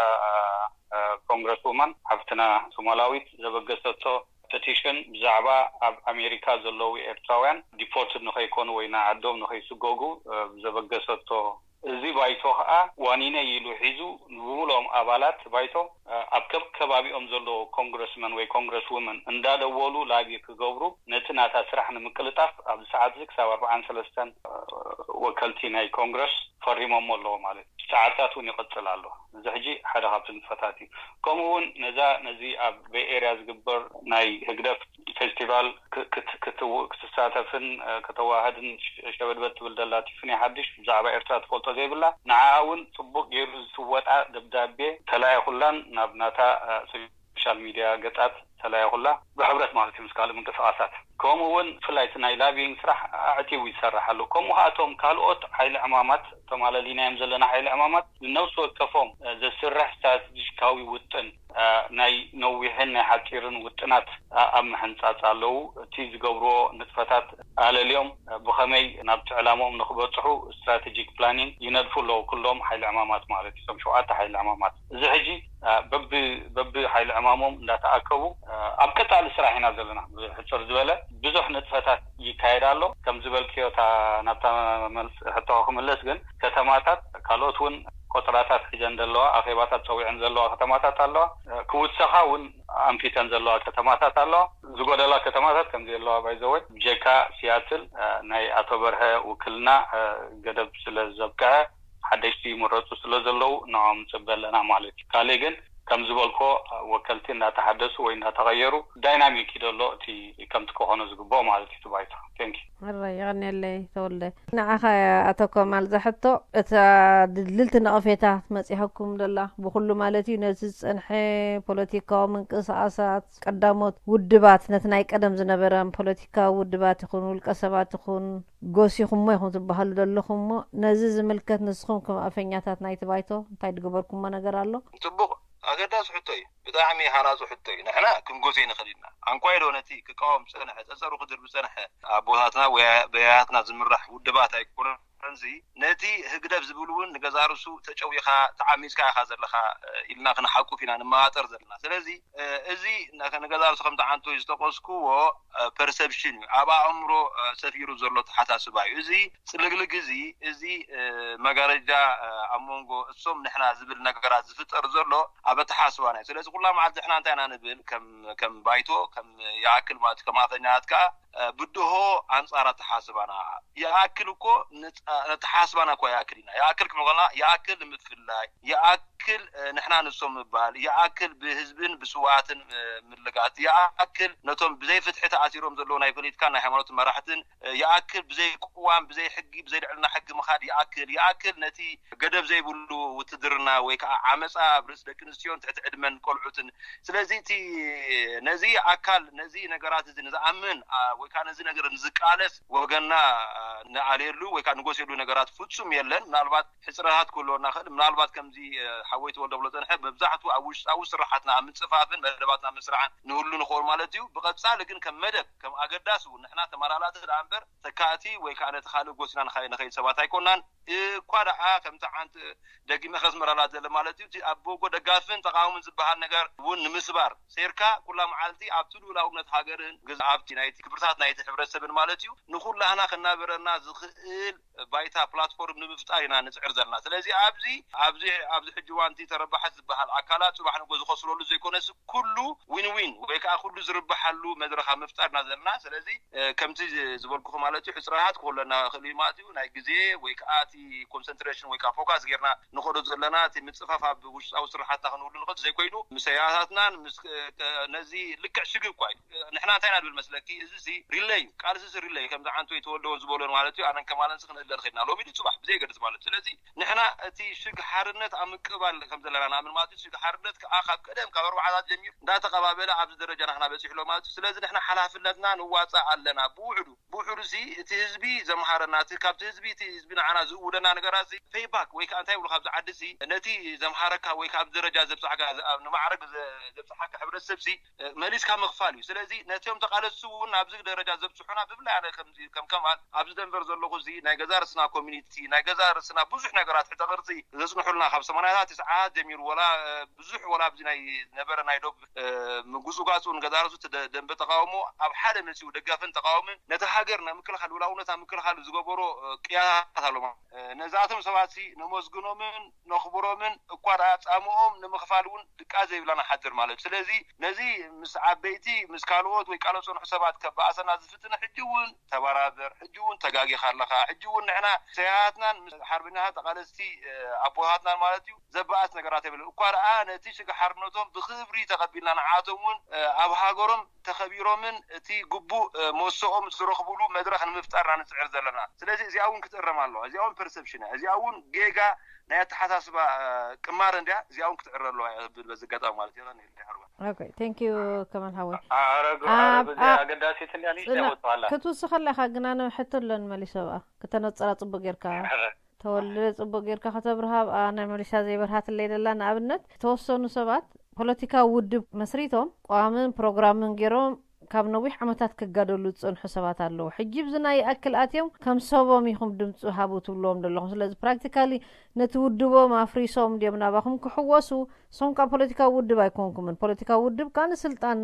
ኮንግረስ ውማን ሓፍትና ሶማላዊት ዘበገሰቶ ፐቲሽን ብዛዕባ ኣብ ኣሜሪካ ዘለዉ ኤርትራውያን ዲፖርትድ ንኸይኮኑ ወይ ንዓዶም ንኸይስጎጉ ብዘበገሰቶ እዚ ባይቶ ከዓ ዋኒነ ኢሉ ሒዙ ንብሙሉኦም ኣባላት ባይቶ ኣብ ከብ ከባቢኦም ዘለዉ ኮንግረስመን ወይ ኮንግረስ ውመን እንዳደወሉ ላቢ ክገብሩ ነቲ ናታ ስራሕ ንምቅልጣፍ ኣብዚ ሰዓት እዚ ክሳብ ኣርባዓን ሰለስተን ወከልቲ ናይ ኮንግረስ ፈሪሞሞ ኣለዎ ማለት እዩ። ሰዓታት እውን ይቕፅል ኣሎ። እዚ ሕጂ ሓደ ካብቲ ንጥፈታት እዩ። ከምኡ እውን ነዛ ነዚ ኣብ ቤይ ኤርያ ዝግበር ናይ ህግደፍ ፌስቲቫል ክትሳተፍን ከተዋህድን ሸበድበድ ትብል ዘላ ቲፍኒ ሓድሽ ብዛዕባ ኤርትራ ትፈልጦ ዘይብላ ንዓኣ እውን ፅቡቅ ገይሩ ዝስወጣ ደብዳቤ ተላኢኹላን ናብ ናታ ሶሻል ሚድያ ገፃት ተላኢኹላ ብሕብረት ማለት እዩ ምስ ካልእ ምንቅስቃሳት ከምኡ እውን ብፍላይ እቲ ናይ ላቢንግ ስራሕ ኣዕቲቡ ይሰርሕ ኣሎ። ከምኡ ከኣቶም ካልኦት ሓይሊ ዕማማት ተማለሊናዮም ዘለና ሓይሊ ዕማማት ንነብሲ ወከፎም ዘስርሕ ስትራቴጂካዊ ውጥን ናይ ነዊሕን ናይ ሓፂርን ውጥናት ኣብ ምሕንፃፅ ኣለዉ። እቲ ዝገብርዎ ንጥፈታት ኣለልዮም ብኸመይ ናብቲ ዕላምኦም ንክበፅሑ ስትራቴጂክ ፕላኒንግ ይነድፉ ኣለዉ። ኩሎም ሓይሊ ዕማማት ማለት እዩ። እቶም ሸውዓተ ሓይሊ ዕማማት እዚ ሕጂ በቢ በቢ ሓይሊ ዕማሞም እንዳተኣከቡ ኣብ ቀፃሊ ስራሕ ኢና ዘለና። ብሕፅር ዝበለ ብዙሕ ንጥፈታት ይካየድ ኣሎ። ከም ዝበልክዮ እታ ናብታ መልስ ሕቶ ክምለስ ግን ከተማታት ካልኦት እውን ቆፅራታት ሒዘን ዘለዋ ኣኼባታት ፀዊዐን ዘለዋ ከተማታት ኣለዋ። ክውሰኻ እውን ኣንፊተን ዘለዋ ከተማታት ኣለዋ። ዝጎደላ ከተማታት ከምዚ ኣለዋ ባይዘወይ ብጀካ ሲያትል ናይ ኣቶ በርሀ ውክልና ገደብ ስለ ዘብቅዐ ሓደሽቲ ይምረፁ ስለ ዘለዉ ንዖም ንፅበ ኣለና ማለት እዩ። ካልእ ግን ከም ዝበልኮ ወከልቲ እንዳተሓደሱ ወይ እንዳተቐየሩ ዳይናሚክ እዩ ዘሎ እቲ ከምቲ ክኾኖ ዝግብኦ ማለት እዩ። ትባይታ ቴንኪ ሕራይ የቐንየለይ ተወልደ። ንዓኻ ኣቶ ከማል ዘሕቶ እታ ድልድልቲ ነቐፌታ መፂሃኩም ደላ ብኩሉ ማለት እዩ ነዚ ዝፀንሐ ፖለቲካዊ ምንቅስቃሳት ቀዳሞት ውድባት ነቲ ናይ ቀደም ዝነበረ ፖለቲካዊ ውድባት ይኹን ውልቀ ሰባት ይኹን ጎሲኹሞ ኢኹም ትበሃሉ ዘለኹም እሞ ነዚ ዝምልከት ንስኹም ከም ኣፈኛታት ናይቲ ባይቶ እንታይ ዝገበርኩሞ ነገር ኣሎ? ጽቡቕ ኣገዳሲ ሕቶ እዩ። ብጣዕሚ ሃናጹ ሕቶ እዩ። ንሕና ክንጎሲ ንኽእል ኢና። ኣንኳይ ዶ ነቲ ክቃወም ዝጸንሐ፣ ጸጸሩ ክድር ዝጸንሐ ኣቦታትና ወይ በያያትና ዝምራሕ ውድባት ኣይኮነን። እዚ ነቲ ህግደፍ ዝብል እውን ንገዛ ርእሱ ተጨዊኻ ተዓሚጽካ ኢኻ ዘለኻ ኢልና ክንሓቁፍ ኢና ንመባጠር ዘለና። ስለዚ እዚ ንገዛ ርእሱ ከም ተዓንቶ ዝጠቀስኩዎ ፐርሰፕሽን እዩ፣ ኣብ ኣእምሮ ሰፊሩ ዘሎ ተሓሳስባ እዩ። እዚ ፅልግልግ እዚ እዚ መጋረጃ ኣብ መንጎ እሶም ንሕና ዝብል ነገራት ዝፍጠር ዘሎ ኣብ ኣተሓስባና እዩ። ስለዚ ኩላ መዓልቲ ንሕና እንታይ ኢና ንብል ከም ባይቶ ከም ይኣክል ማለት ከም ኣፈኛት ከዓ ብድሆ ኣንጻር ኣተሓስባና። ይኣክል እኮ ኣተሓስባና እኳ ይኣክል ኢና። ይኣክል ክንብል ከለና ይኣክል ንምፍላይ፣ ይኣክል ንሕና ንሶም ምባል፣ ይኣክል ብህዝብን ብስውኣትን ምልጋት፣ ይኣክል ነቶም ብዘይ ፍትሒ ተኣሲሮም ዘለዉ ናይ ፖለቲካን ናይ ሃይማኖት መራሕትን፣ ይኣክል ብዘይ ቅዋም፣ ብዘይ ሕጊ፣ ብዘይ ልዕልና ሕጊ ምኻድ፣ ይኣክል ይኣክል ነቲ ገደብ ዘይብሉ ውትድርና ወይ ከዓ ዓመፃ ኣብ ርእሲ ደቂ ኣንስትዮን ትሕቲ ዕድመን ቆልዑትን። ስለዚ እቲ ነዚ ኣካል ነዚ ነገራት እዚ ንዝኣምን ወይ ከዓ ነዚ ነገር ንዝቃለስ ወገንና ንኣልየሉ ወይ ከዓ ንጎስየሉ ነገራት ፍፁም የለን። ምናልባት ሕፅረታት ክህልወና ክእል። ምናልባት ከምዚ ሓወይ ተወልደ ብሎ ፀንሐ መብዛሕቱ ኣብ ውሽጣዊ ስራሓትና ኣብ ምፅፋፍን መደባትና ምስራሕን ንህሉ ንኸውን ማለት እዩ። ብቐፃሊ ግን ከም መደብ ከም ኣገዳሲ እውን ንሕና ተመላላቲ ደኣ እምበር ተካእቲ ወይ ከዓ ነቲ ካልእ ጎሲና ንኸይድ ሰባት ኣይኮናን። እኳ ደኣ ከምቲ ሓንቲ ደጊመ ከስምረላ ዘለ ማለት እዩ። ኣብ ጎ ደጋፍን ተቃውምን ዝበሃል ነገር እውን ንምስባር ሴርካ ኩላ መዓልቲ ኣብቲ ልኡላውነት ሃገርን ግዝ ኣብቲ ናይቲ ክብርታት ናይቲ ሕብረተሰብን ማለት እዩ ንኩላህና ክናበረና ዝኽእል ባይታ ፕላትፎርም ንምፍጣር ኢና ንፅዕር ዘለና። ስለዚ ኣብዚ ኣብዚ ኣብዚ ሕጂ ዋንቲ ተረባሐት ዝበሃል ኣካላት ፅባሕ ንጎ ዝኸስረሉ ዘይኮነስ ኩሉ ዊን ዊን ወይ ከዓ ኩሉ ዝርብሓሉ መድረኻ ምፍጣር ኢና ዘለና። ስለዚ ከምቲ ዝበልኩኹ ማለት እዩ ሕፅረታት ክህለና ክእል እዩ ማለት እዩ ናይ ግዜ ወይ ከዓ እቲ ኮንሰንትሬሽን ወይ ከዓ ፎካስ ጌርና ንኸዶ ዘለና እቲ ምፅፋፍ ኣብ ውሽጣዊ ስራሓትና ክንህሉ ንኽእል ዘይኮይኑ ምስ ሰያታትናን ነዚ ልክዕ ሽግብ እኳ እዩ። ንሕና እንታይ ኢና ንብል መስለኪ? እዚ ሲ ሪለይ እዩ። ቃልሲ ሲ ሪለይ እዩ። ከምዚ ዓንቶ ይተወልደውን ዝበሎን ማለት እዩ። ኣነን ከማለንስ ክንእለር ኽድና ሎሚ ድዩ ፅባሕ ብዘይገድስ ማለት እዩ። ስለዚ ንሕና እቲ ሽግ ሓርነት ኣብ ምቅባል ከም ዘለና ንኣምን ማለት እዩ። ሽግ ሓርነት ከዓ ካብ ቀደም ካብ ኣርባዓታት ጀሚሩ እንዳተቐባበለ ኣብዚ ደረጃ ናኽና በፂሑ ኣሎ ማለት እዩ። ስለዚ ንሕና ሓላፍነትና ንዋፃእ ኣለና። ብውሕዱ ብውሕዱ ሲ እቲ ህዝቢ ዘምሃረና እቲ ካብቲ ህዝቢ እቲ ህዝቢ ንዓና ዝእውደና ነገራት ሲ ፔይባክ ወይ ከዓ እንታይ ይብሉ ካብዚ ዓዲ ሲ ነቲ ዘምሃረካ ወይ ካብ ደረጃ ዘብፅሓካ ንማዕረግ ዘብፅሓካ ሕብረተሰብ ሲ መሊስካ ምኽፋል እዩ። ስለዚ ነቲኦም ተቃለስቲ እውን ናብዚ ደረጃ ዘብፅሑና ብፍላይ ኣነ ከም ከማል ኣብዚ ደንቨር ዘለኹ እዚ ናይ ገዛ ርስና ኮሚኒቲ ናይ ገዛ ርስና ብዙሕ ነገራት ሕተ ቅርፂ ዘፅንሑልና ካብ ሰማንያታት ትስዓት ጀሚሩ ወላ ብዙሕ ወላ ኣብዚ ናይ ነበረ ናይ ዶብ ምጉፅጓፅ እውን ገዛ ርሱ ደንበ ተቃውሞ ኣብ ሓደ መፂኡ ደጋፍን ተቃውምን ነቲ ሃገር ናይ ምክልኻል ውላውነት ኣብ ምክልኻል ዝገበሮ ቅያታት ኣሎ። ነዛቶም ሰባት ነመስግኖምን ነኽብሮምን እኳ ደኣ ፃምኦም ንምኽፋል እውን ድቃ ዘይብላና ሓድር ማለት እዩ። ስለዚ ነዚ ምስ ዓበይቲ ምስ ካልኦት ወይ ቃለ ፀንሑ ሰባት ከባእሰና ዝፍትን ሕጂ እውን ተበራበር፣ ሕጂ እውን ተጋጊኻ ኣለኻ፣ ሕጂ እውን ንሕና ሰያትናን ምስ ሓርበኛታት ተቃለስቲ ኣቦታትናን ማለት እዩ ዘበኣስ ነገራት የብለን። እኳ ደኣ ነቲ ሽግ ሓርነቶም ብክብሪ ተቐቢልና ንዓቶም እውን ኣብ ሃገሮም ተኸቢሮምን እቲ ግቡእ መሰኦም ዝረኽብሉ መድረኽ ንምፍጣር ኢና ንፅዕር ዘለና። ስለዚ እዚኣ እውን ክትእረም ኣለዋ። እዚኣ እውን ፐርሰፕሽን እያ። እዚኣ እውን ጌጋ ናይ ኣተሓሳስባ ቅማር እንድያ። እዚኣ እውን ክትዕረ ኣለዋ እያ ብል በዚ ኣጋጣሚ ማለት እዩ። ኦኬ፣ ቴንክ ዩ ከማል ሓወይ። ኣረግ ኣብ- ኣረግ እዚኣ ኣብ- ኣገዳሲት እንድያ ንእሽተይ ጽና- ወጥዋላ ክትውስኸላ ኢኻ ግን ኣነ ሕቶ ኣለኒ መሊሰ ኣብኣ ክተነጽራ ጽቡቅ ጌርካ ተወልደ ጽቡቅ ጌርካ ከተብርሃ ኣብኣ ናይ መሊሳ ዘይበርሃትለይ ደላ ንኣብነት ዝተወሰኑ ሰባት ፖለቲካዊ ውድብ መስሪቶም ቋምን ፕሮግራምን ገይሮም ካብ ነዊሕ ዓመታት ክጋደሉ ዝጸንሑ ሰባት ኣለዉ። ሕጂ ብዚ ናይ ይኣክል ኣትዮም ከም ሰቦም ኢኹም ድምፂ ሃቡ ትብልዎም ዘለኹም። ስለዚ ፕራክቲካሊ ነቲ ውድቦም ኣፍሪሶም ድዮም ናባኹም ክሕወሱ? ንሶም ከዓ ፖለቲካዊ ውድብ ኣይኮንኩምን። ፖለቲካዊ ውድብ ከዓ ንስልጣን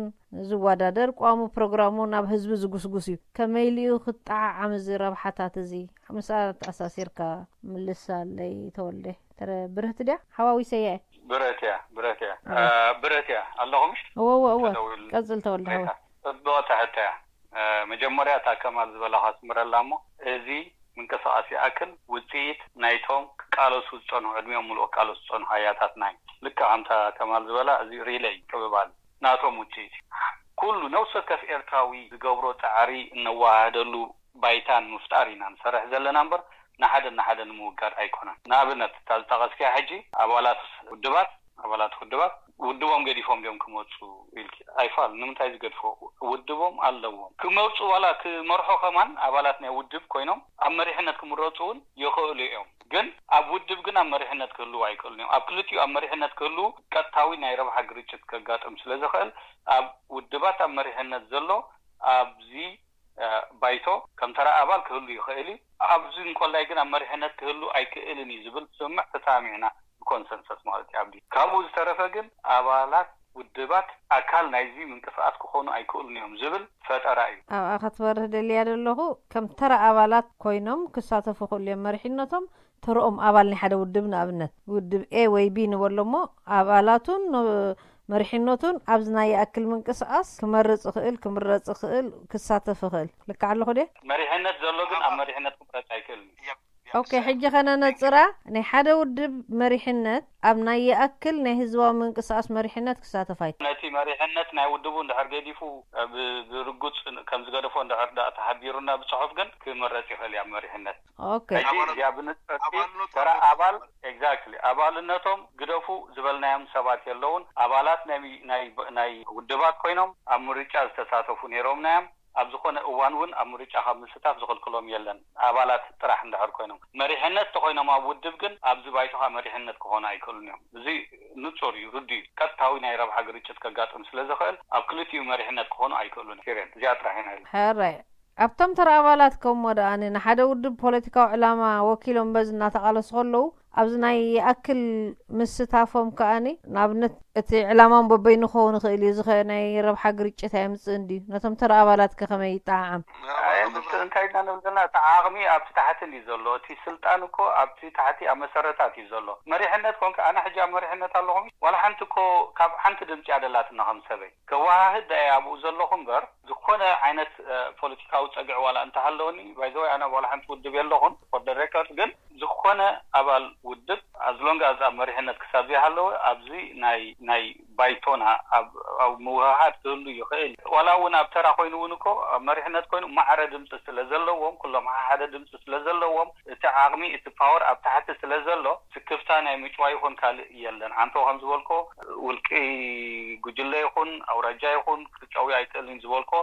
ዝወዳደር ቋሙ ፕሮግራሙ ናብ ህዝቢ ዝጉስጉስ እዩ። ከመይ ኢሉ እዩ ክጠዓዓም እዚ ረብሓታት እዚ? ምስኣ ተኣሳሲርካ ምልሳለይ ተወልደ። ተረ ብርህቲ ድያ? ሓዋዊሰያ እየ። ብረት እያ ብረት እያ እ። ብረት እያ ኣለኹ ምሽ እወ እወ እወ ተደዊሉ ቀጽል ተወልደ ሓወይ። ጽብቕቲ ሕቶ እያ። መጀመርያ እታ ከማል ዝበላ ከስምረላ እሞ እዚ ምንቅስቃስ ይኣክል ውፅኢት ናይቶም ክቃለሱ ዝፀንሑ ዕድሚኦም ምሉእ ክቃለሱ ዝፀንሑ ኣያታትና እዩ። ልክዕ ከምታ ከማል ዝበላ እዚ ሪለይ ቅብባል ናቶም ውፅኢት እዩ። ኩሉ ነፍሲ ወከፍ ኤርትራዊ ዝገብሮ ፃዕሪ እነወሃህደሉ ባይታ ንምፍጣር ኢና ንሰርሕ ዘለና እምበር ንሓደ ንሓደ ንምውጋድ ኣይኮነን። ንኣብነት እታ ዝጠቐስክያ ሕጂ ኣባላት ውድባት ኣባላት ውድባት ውድቦም ገዲፎም ድዮም ክመፁ ኢልኪ ኣይፋል ንምንታይ ዝገድፎ ውድቦም ኣለዎም ክመፁ ዋላ ክመርሖ ከማን ኣባላት ናይ ውድብ ኮይኖም ኣብ መሪሕነት ክምረፁ እውን ይኽእሉ እዮም። ግን ኣብ ውድብ ግን ኣብ መሪሕነት ክህልው ኣይክእሉን እዮም። ኣብ ክልቲኡ ኣብ መሪሕነት ክህልው ቀጥታዊ ናይ ረብሓ ግርጭት ከጋጥም ስለዝኽእል ኣብ ውድባት ኣብ መሪሕነት ዘሎ ኣብዚ ባይቶ ከም ተራ ኣባል ክህሉ ይኽእል እዩ። ኣብዚ እንኮላይ ግን ኣብ መሪሕነት ክህሉ ኣይክእልን እዩ ዝብል ስምምዕ ተሳሚዕና ብኮንሰንሰስ ማለት እዩ። ኣብዲ ካብኡ ዝተረፈ ግን ኣባላት ውድባት ኣካል ናይዚ ምንቅስቃስ ክኾኑ ኣይክእሉን እዮም ዝብል ፈጠራ እዩ። ኣብኣ ክትበርህ ደልያ ዘለኹ ከም ተራ ኣባላት ኮይኖም ክሳተፉ ክእሉ እዮም መሪሕነቶም ተርኦም ኣባል ናይ ሓደ ውድብ ንኣብነት ውድብ ኤ ወይ ቢ ንበሎ እሞ ኣባላቱን መሪሕነቱን ኣብዚ ናይ ይኣክል ምንቅስቃስ ክመርጽ ይኽእል፣ ክምረጽ ይኽእል፣ ክሳተፍ ይኽእል። ልክዕ ኣለኹ ድየ? መሪሕነት ዘሎ ግን ኣብ መሪሕነት ክምረጽ ኣይክእልን እዩ። ኦኬ፣ ሕጂ ከነነጽራ። ናይ ሓደ ውድብ መሪሕነት ኣብ ናይ ይኣክል ናይ ህዝባዊ ምንቅስቃስ መሪሕነት ክሳተፍ ኣይክእልን። ነቲ መሪሕነት ናይ ውድቡ እንድሕር ገዲፉ፣ ብ- ብርጉጽ ከም ዝገደፎ እንድሕር ደኣ ተሓቢሩና ብጽሑፍ ግን ክምረጽ ይኽእል እዩ ኣብ መሪሕነት። ኦኬ። ሕጂ እዚኣ ብንጽርቲ ተራ ኣባል፣ exactly፣ ኣባልነቶም ግደፉ ዝበልናዮም ሰባት የለውን። ኣባላት ናይ ናይ ናይ ውድባት ኮይኖም ኣብ ምርጫ ዝተሳተፉ ነይሮምና እዮም። ኣብ ዝኾነ እዋን እውን ኣብ ምርጫ ካብ ምስታፍ ዝኽልክሎም የለን፣ ኣባላት ጥራሕ እንድሕር ኮይኖም። መሪሕነት ተኾይኖም ኣብ ውድብ ግን ኣብዚ ባይቶኻ መሪሕነት ክኾኑ ኣይክእሉን እዮም። እዚ ንጹር እዩ፣ ርዱእ እዩ። ቀጥታዊ ናይ ረብሓ ግርጭት ከጋጥም ስለ ዝኽእል ኣብ ክልቲኡ መሪሕነት ክኾኑ ኣይክእሉን። ፔሬድ እዚኣ ጥራሕ ኢና ኢልና። ሕራይ። ኣብቶም ተራ ኣባላት ከም ወደኣኒ ንሓደ ውድብ ፖለቲካዊ ዕላማ ወኪሎም በዚ እናተቓለሱ ከለዉ ኣብዚ ናይ ይኣክል ምስታፎም ከኣኒ ንኣብነት እቲ ዕላማም በበይኑ ክኸውን ይኽእል እዩ። እዚ ኸ ናይ ረብሓ ግርጭት ኣየምጽእን ድዩ? ነቶም ተራ ኣባላት ከ ከመይ ይጠዓዓም? እንታይ ኢና ንብል ዘለና? እቲ ዓቕሚ ኣብቲ ታሕቲ እንዲ ዘሎ፣ እቲ ስልጣን እኮ ኣብቲ ታሕቲ ኣብ መሰረታት እዩ ዘሎ። መሪሕነት ኮንካ ኣነ ሕጂ ኣብ መሪሕነት ኣለኹም ዋላ ሓንቲ እኮ ካብ ሓንቲ ድምፂ ኣደላትና ከም ሰበይ ከወሃህድ ዳየ ኣብኡ ዘለኹ እምበር ዝኾነ ዓይነት ፖለቲካዊ ፀግዒ ዋላ እንተሃለወኒ ባይዘወይ ኣነ ዋላ ሓንቲ ውድብ የለኹን for the record ግን ዝኾነ ኣባል ውድብ ኣዝሎንግ ኣዝ ኣብ መሪሕነት ክሳብ ዘይሃለወ ኣብዚ ናይ ናይ ባይቶና ኣብ ኣብ ምውህሃድ ክህሉ ይኽእል። ዋላ እውን ኣብ ተራ ኮይኑ እውን እኮ ኣብ መሪሕነት ኮይኑ ማዕረ ድምፂ ስለ ዘለዎም ኩሎም ሓደ ድምፂ ስለ ዘለዎም እቲ ዓቕሚ እቲ ፓወር ኣብ ታሕቲ ስለ ዘሎ ስክፍታ ናይ ምጭዋ ይኹን ካልእ የለን። ዓንቶ ከም ዝበልኮ ውልቂ ጉጅለ ይኹን ኣውራጃ ይኹን ክጨዊ ኣይክእልን ዝበልኮ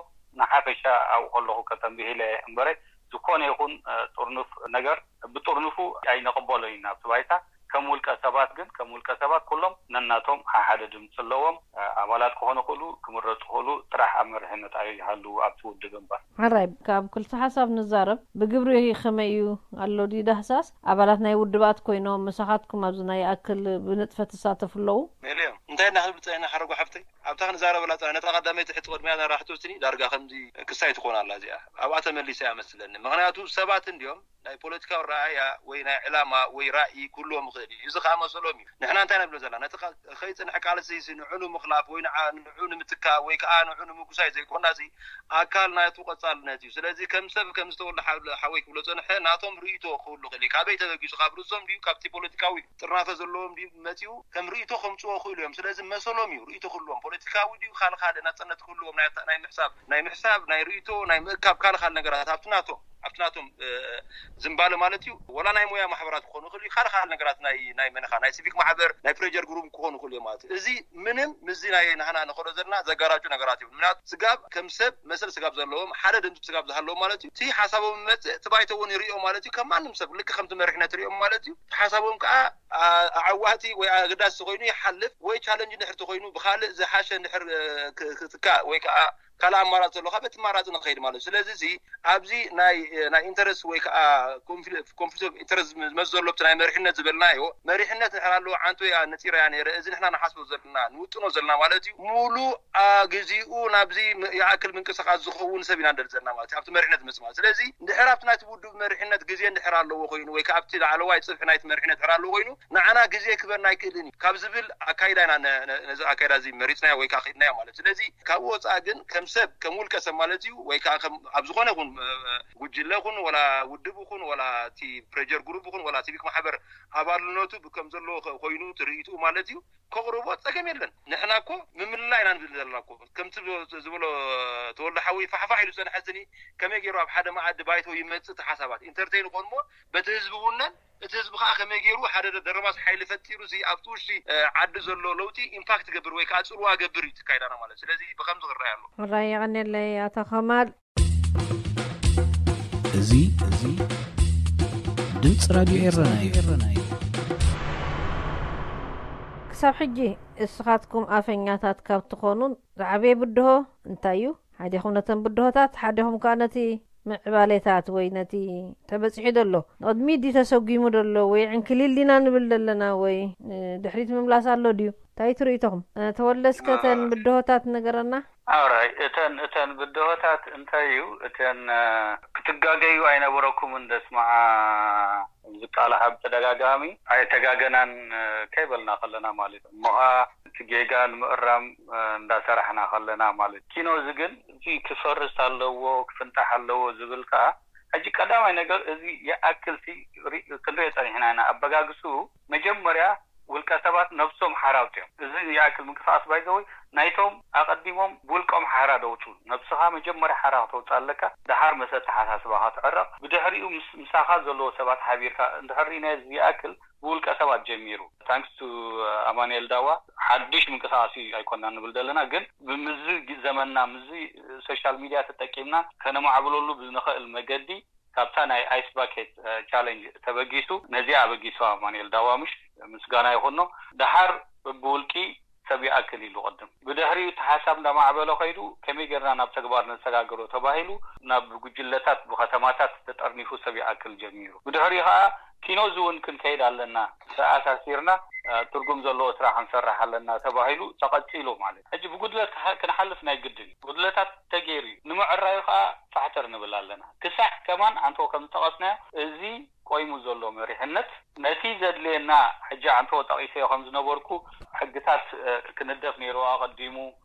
ንሓፈሻ ኣብኡ ከለኹ ከተንብሂለ እምበረ ዝኾነ ይኹን ጥርኑፍ ነገር ብጥርኑፉ ኣይንቕበሎ ኢና ኣብቲ ባይታ። ከም ውልቀ ሰባት ግን ከም ውልቀ ሰባት ኩሎም ነናቶም ሓደ ድምፂ ኣለዎም። ኣባላት ክኾኑ ክእሉ ክምረፁ ክእሉ ጥራሕ ኣብ መሪሕነት ኣይሃልዉ ኣብቲ ውድብ እምበር። ሕራይ ካብ ክልተ ሓሳብ ንዛረብ ብግብሪ ከመይ እዩ ኣሎ ድዩ ዳህሳስ ኣባላት ናይ ውድባት ኮይኖም ምሳኻትኩም ኣብዚ ናይ ይኣክል ብንጥፈት ትሳተፉ ኣለዉ? ሜልዮ እንታይ እና ክንብል ፀኒሕና ሓረጎ ሓፍተይ ኣብታ ክንዛረበላ ፀና ነታ ቀዳመይቲ ሕቲ ቅድሚያ ናራሕቶ ስኒ ዳርጋ ከምዚ ክሳይ ትኾን ኣላ እዚኣ ኣብኣ ተመሊሳ እያ መስለኒ ምክንያቱ ሰባት እንዲዮም ናይ ፖለቲካዊ ረኣያ ወይ ናይ ዕላማ ወይ ራእይ ክህልዎም ይኽእል እዩ። እዚ ከዓ መሰሎም እዩ። ንሕና እንታይ ነብሎ ዘለና ነቲ ከይፅንሕ ቃልሲ ንዑ ንምኽላፍ ወይ ንዑ ንምትካእ ወይ ከዓ ንዑ ንምጉሳይ ዘይኮና እዚ ኣካል ናቱ ቀፃልነት እዩ። ስለዚ ከም ሰብ ከም ዝተወልደ ሓወይ ክብሎ ፀንሐ ናቶም ርእይቶ ክህሉ ይኽእል እዩ። ካበይ ተበጊሱ ካብ ርእሶም ድዩ ካብቲ ፖለቲካዊ ጥርናፈ ዘለዎም ድዩ መፂኡ ከም ርእይቶ ከምፅዎ ክእሉ እዮም። ስለዚ መሰሎም እዩ ርእይቶ ክህልዎም ፖለቲካዊ ድዩ ካልእ ካልእ ናፅነት ክህልዎም ናይ ምሕሳብ ናይ ምሕሳብ ናይ ርእይቶ ናይ ምእካብ ካልእ ካልእ ነገራት ኣብቲ ናቶም ኣብቲ ናቶም ዝምባለ ማለት እዩ። ወላ ናይ ሞያ ማሕበራት ክኾኑ ይኽእሉ ካልእ ካልእ ነገራት ናይ ናይ መነኻ ናይ ሲቪክ ማሕበር ናይ ፕሬጀር ግሩፕ ክኾኑ ይኽእሉ እዮም ማለት እዩ። እዚ ምንም ምስዚ ናይ ናህና ንኸዶ ዘለና ዘጋራጩ ነገራት እዩ። ምክንያቱ ስጋብ ከም ሰብ መሰል ስጋብ ዘለዎም ሓደ ድምፂ ስጋብ ዝሃለዎም ማለት እዩ። እቲ ሓሳቦም መፅእ እቲ ባይቶ እውን ይርእዮ ማለት እዩ። ከም ማንም ሰብ ልክ ከምቲ መሪሕነት ይርእዮም ማለት እዩ። እቲ ሓሳቦም ከዓ ኣዕዋቲ ወይ ኣገዳሲ ኮይኑ ይሓልፍ ወይ ቻለንጅ ንድሕር ተኮይኑ ብካልእ ዝሓሸ ንድሕር ክትካእ ወይ ከዓ ካልእ ኣማራፂ ዘሎ ካብ እቲ ኣማራፂ ንኸይድ ማለት እዩ። ስለዚ እዚ ኣብዚ ናይ ናይ ኢንተረስት ወይ ከዓ ኮንፍሊክት ኦፍ ኢንተረስት ዝመፅ ዘሎ ብቲ ናይ መሪሕነት ዝበልናዮ መሪሕነት ንድሕር ኣለዎ ዓንቶ እያ ነፂራ እያ ነይረ እዚ ንሕና ንሓስቦ ዘለና ንውጥኖ ዘለና ማለት እዩ። ሙሉእ ግዜኡ ናብዚ ይኣክል ምንቅስቃስ ዝኸውን ሰብ ኢና ንደሊ ዘለና ማለት እዩ ኣብቲ መሪሕነት ዝመፅእ ማለት ስለዚ እንድሕር ኣብቲ ናይቲ ውድብ መሪሕነት ግዜ እንድሕር ኣለዎ ኮይኑ ወይ ከዓ ኣብቲ ላዕለዋይ ፅፍሒ ናይቲ መሪሕነት እንድሕር ኣለዎ ኮይኑ ንዓና ግዜ ክበና ኣይክእልን እዩ ካብ ዝብል ኣካይዳ ኢና ነዚ ኣካይዳ እዚ መሪፅናዮ ወይ ከዓ ከይድናዮ ማለት እዩ። ስለዚ ካብኡ ወፃኢ ግን ከም ሰብ ከም ውልቀ ሰብ ማለት እዩ ወይ ከዓ ኣብ ዝኾነ ይኹን ጉጅለ ይኹን ወላ ውድብ ይኹን ወላ እቲ ፕሬጀር ግሩፕ ይኹን ወላ ሲቪክ ማሕበር ኣባልነቱ ከም ዘለዎ ኮይኑ ትርኢትኡ ማለት እዩ ከቕርቦ ፀገም የለን። ንሕና እኮ ምምልላ ኢና ንብል ዘለና እኮ ከምቲ ዝበሎ ተወልደ ሓወይ ፋሕፋሕ ኢሉ ፀንሐ ስኒ ከመይ ገይሩ ኣብ ሓደ መኣዲ ባይቶ ይመፅእ እቲ ሓሳባት ኢንተርቴይን ይኾን እሞ በቲ ህዝቢ ውነን እቲ ህዝቢ ከዓ ከመይ ገይሩ ሓደ ደረባስ ሓይሊ ፈጢሩ እዚ ኣብቲ ውሽጢ ዓዲ ዘሎ ለውጢ ኢምፓክት ገብር ወይ ከዓ ፅልዋ ገብር እዩ ትካይዳና ማለት ስለዚ ብከምዚ ክረኣይ ኣሎ። ሕራይ የቐንየለይ ኣቶ ከማል። እዚ እዚ ድምፂ ራድዮ ኤረና እዩ። ክሳብ ሕጂ እስኻትኩም ኣፈኛታት ካብ ትኾኑ ዝዓበየ ብድሆ እንታይ እዩ? ሓዲኹም ነተን ብድሆታት ሓዲኹም ከዓ ነቲ ምዕባሌታት ወይ ነቲ ተበፂሑ ዘሎ ንቕድሚት ድዩ ተሰጒሙ ዘሎ ወይ ዕንክሊል ዲና ንብል ዘለና ወይ ንድሕሪት ምምላስ ኣሎ ድዩ? እንታይ ትርእይቶኹም? ተወልደ እስከ ተን ብድሆታት ንገረና። ኣራይ እተን እተን ብድሆታት እንታይ እዩ? እተን ክትጋገዩ ኣይነበረኩምን። ደስማዓ ዝቃላሓ ብተደጋጋሚ ኣይተጋገናን ከይበልና ከለና ማለት እዩ። እሞ ኸዓ እቲ ጌጋ ንምእራም እንዳሰራሕና ከለና ማለት እዩ። ኪኖ እዚ ግን እዚ ክፈርስ ኣለዎ፣ ክፍንጣሕ ኣለዎ ዝብል ከዓ ሕጂ ቀዳማይ ነገር እዚ ይኣክል ክንሪኦ ፀኒሕና ኢና። ኣበጋግስኡ መጀመርያ ውልቀ ሰባት ነብሶም ሓራውጥ እዮም። እዚ ይኣክል ምንቅስቃስ ባይዘወይ ናይቶም ኣቐዲሞም ብውልቆም ሓራ ደውፁ። ነብስኻ መጀመርያ ሓራ ክተውፅእ ኣለካ፣ ደሓር መሰ ኣተሓሳስባኻ ትዕረቕ። ብድሕሪኡ ምስ ምሳኻ ዘለዎ ሰባት ሓቢርካ እንድሕር ርኢናዮ እዚ ይኣክል ብውልቀ ሰባት ጀሚሩ። ታንክስ ቱ ኣማኑኤል ዳዋ ሓድሽ ምንቅስቃስ እዩ ኣይኮና ንብል ዘለና፣ ግን ብምዚ ዘመንና ምዚ ሶሻል ሚድያ ተጠቂምና ከነማዕብለሉ ብንኽእል መገዲ ካብታ ናይ ኣይስ ባኬት ቻለንጅ ተበጊሱ ነዚኣ ኣበጊሱ ኣማኑኤል ዳዋ ምሽ ምስጋና ይኹኖ። ደሓር ብውልቂ ሰብ ይኣክል ኢሉ ቅድም ብድሕሪኡ እቲ ሓሳብ እንዳማዕበለ ከይዱ ከመይ ጌርና ናብ ተግባር ነሰጋግሮ ተባሂሉ ናብ ጉጅለታት ብከተማታት ተጠርኒፉ ሰብ ይኣክል ጀሚሩ። ብድሕሪኡ ከዓ ኪኖ እዚ እውን ክንከይድ ኣለና ተኣሳሲርና ትርጉም ዘለዎ ስራሕ ክንሰርሕ ኣለና ተባሂሉ ተቐፂሉ ማለት ሕጂ ብጉድለት ክንሓልፍ ናይ ግድን እዩ። ጉድለታት ተገይሩ እዩ። ንምዕራዩ ከዓ ፋሕተር ንብል ኣለና። ክሳዕ ከማን ኣንቶ ከም ዝጠቐስናዮ እዚ ቆይሙ ዘሎ መሪሕነት ነቲ ዘድልየና ሕጂ ኣንቶ ጠቒሰዮ ከም ዝነበርኩ ሕግታት ክንደፍ ነይሩ ኣቐዲሙ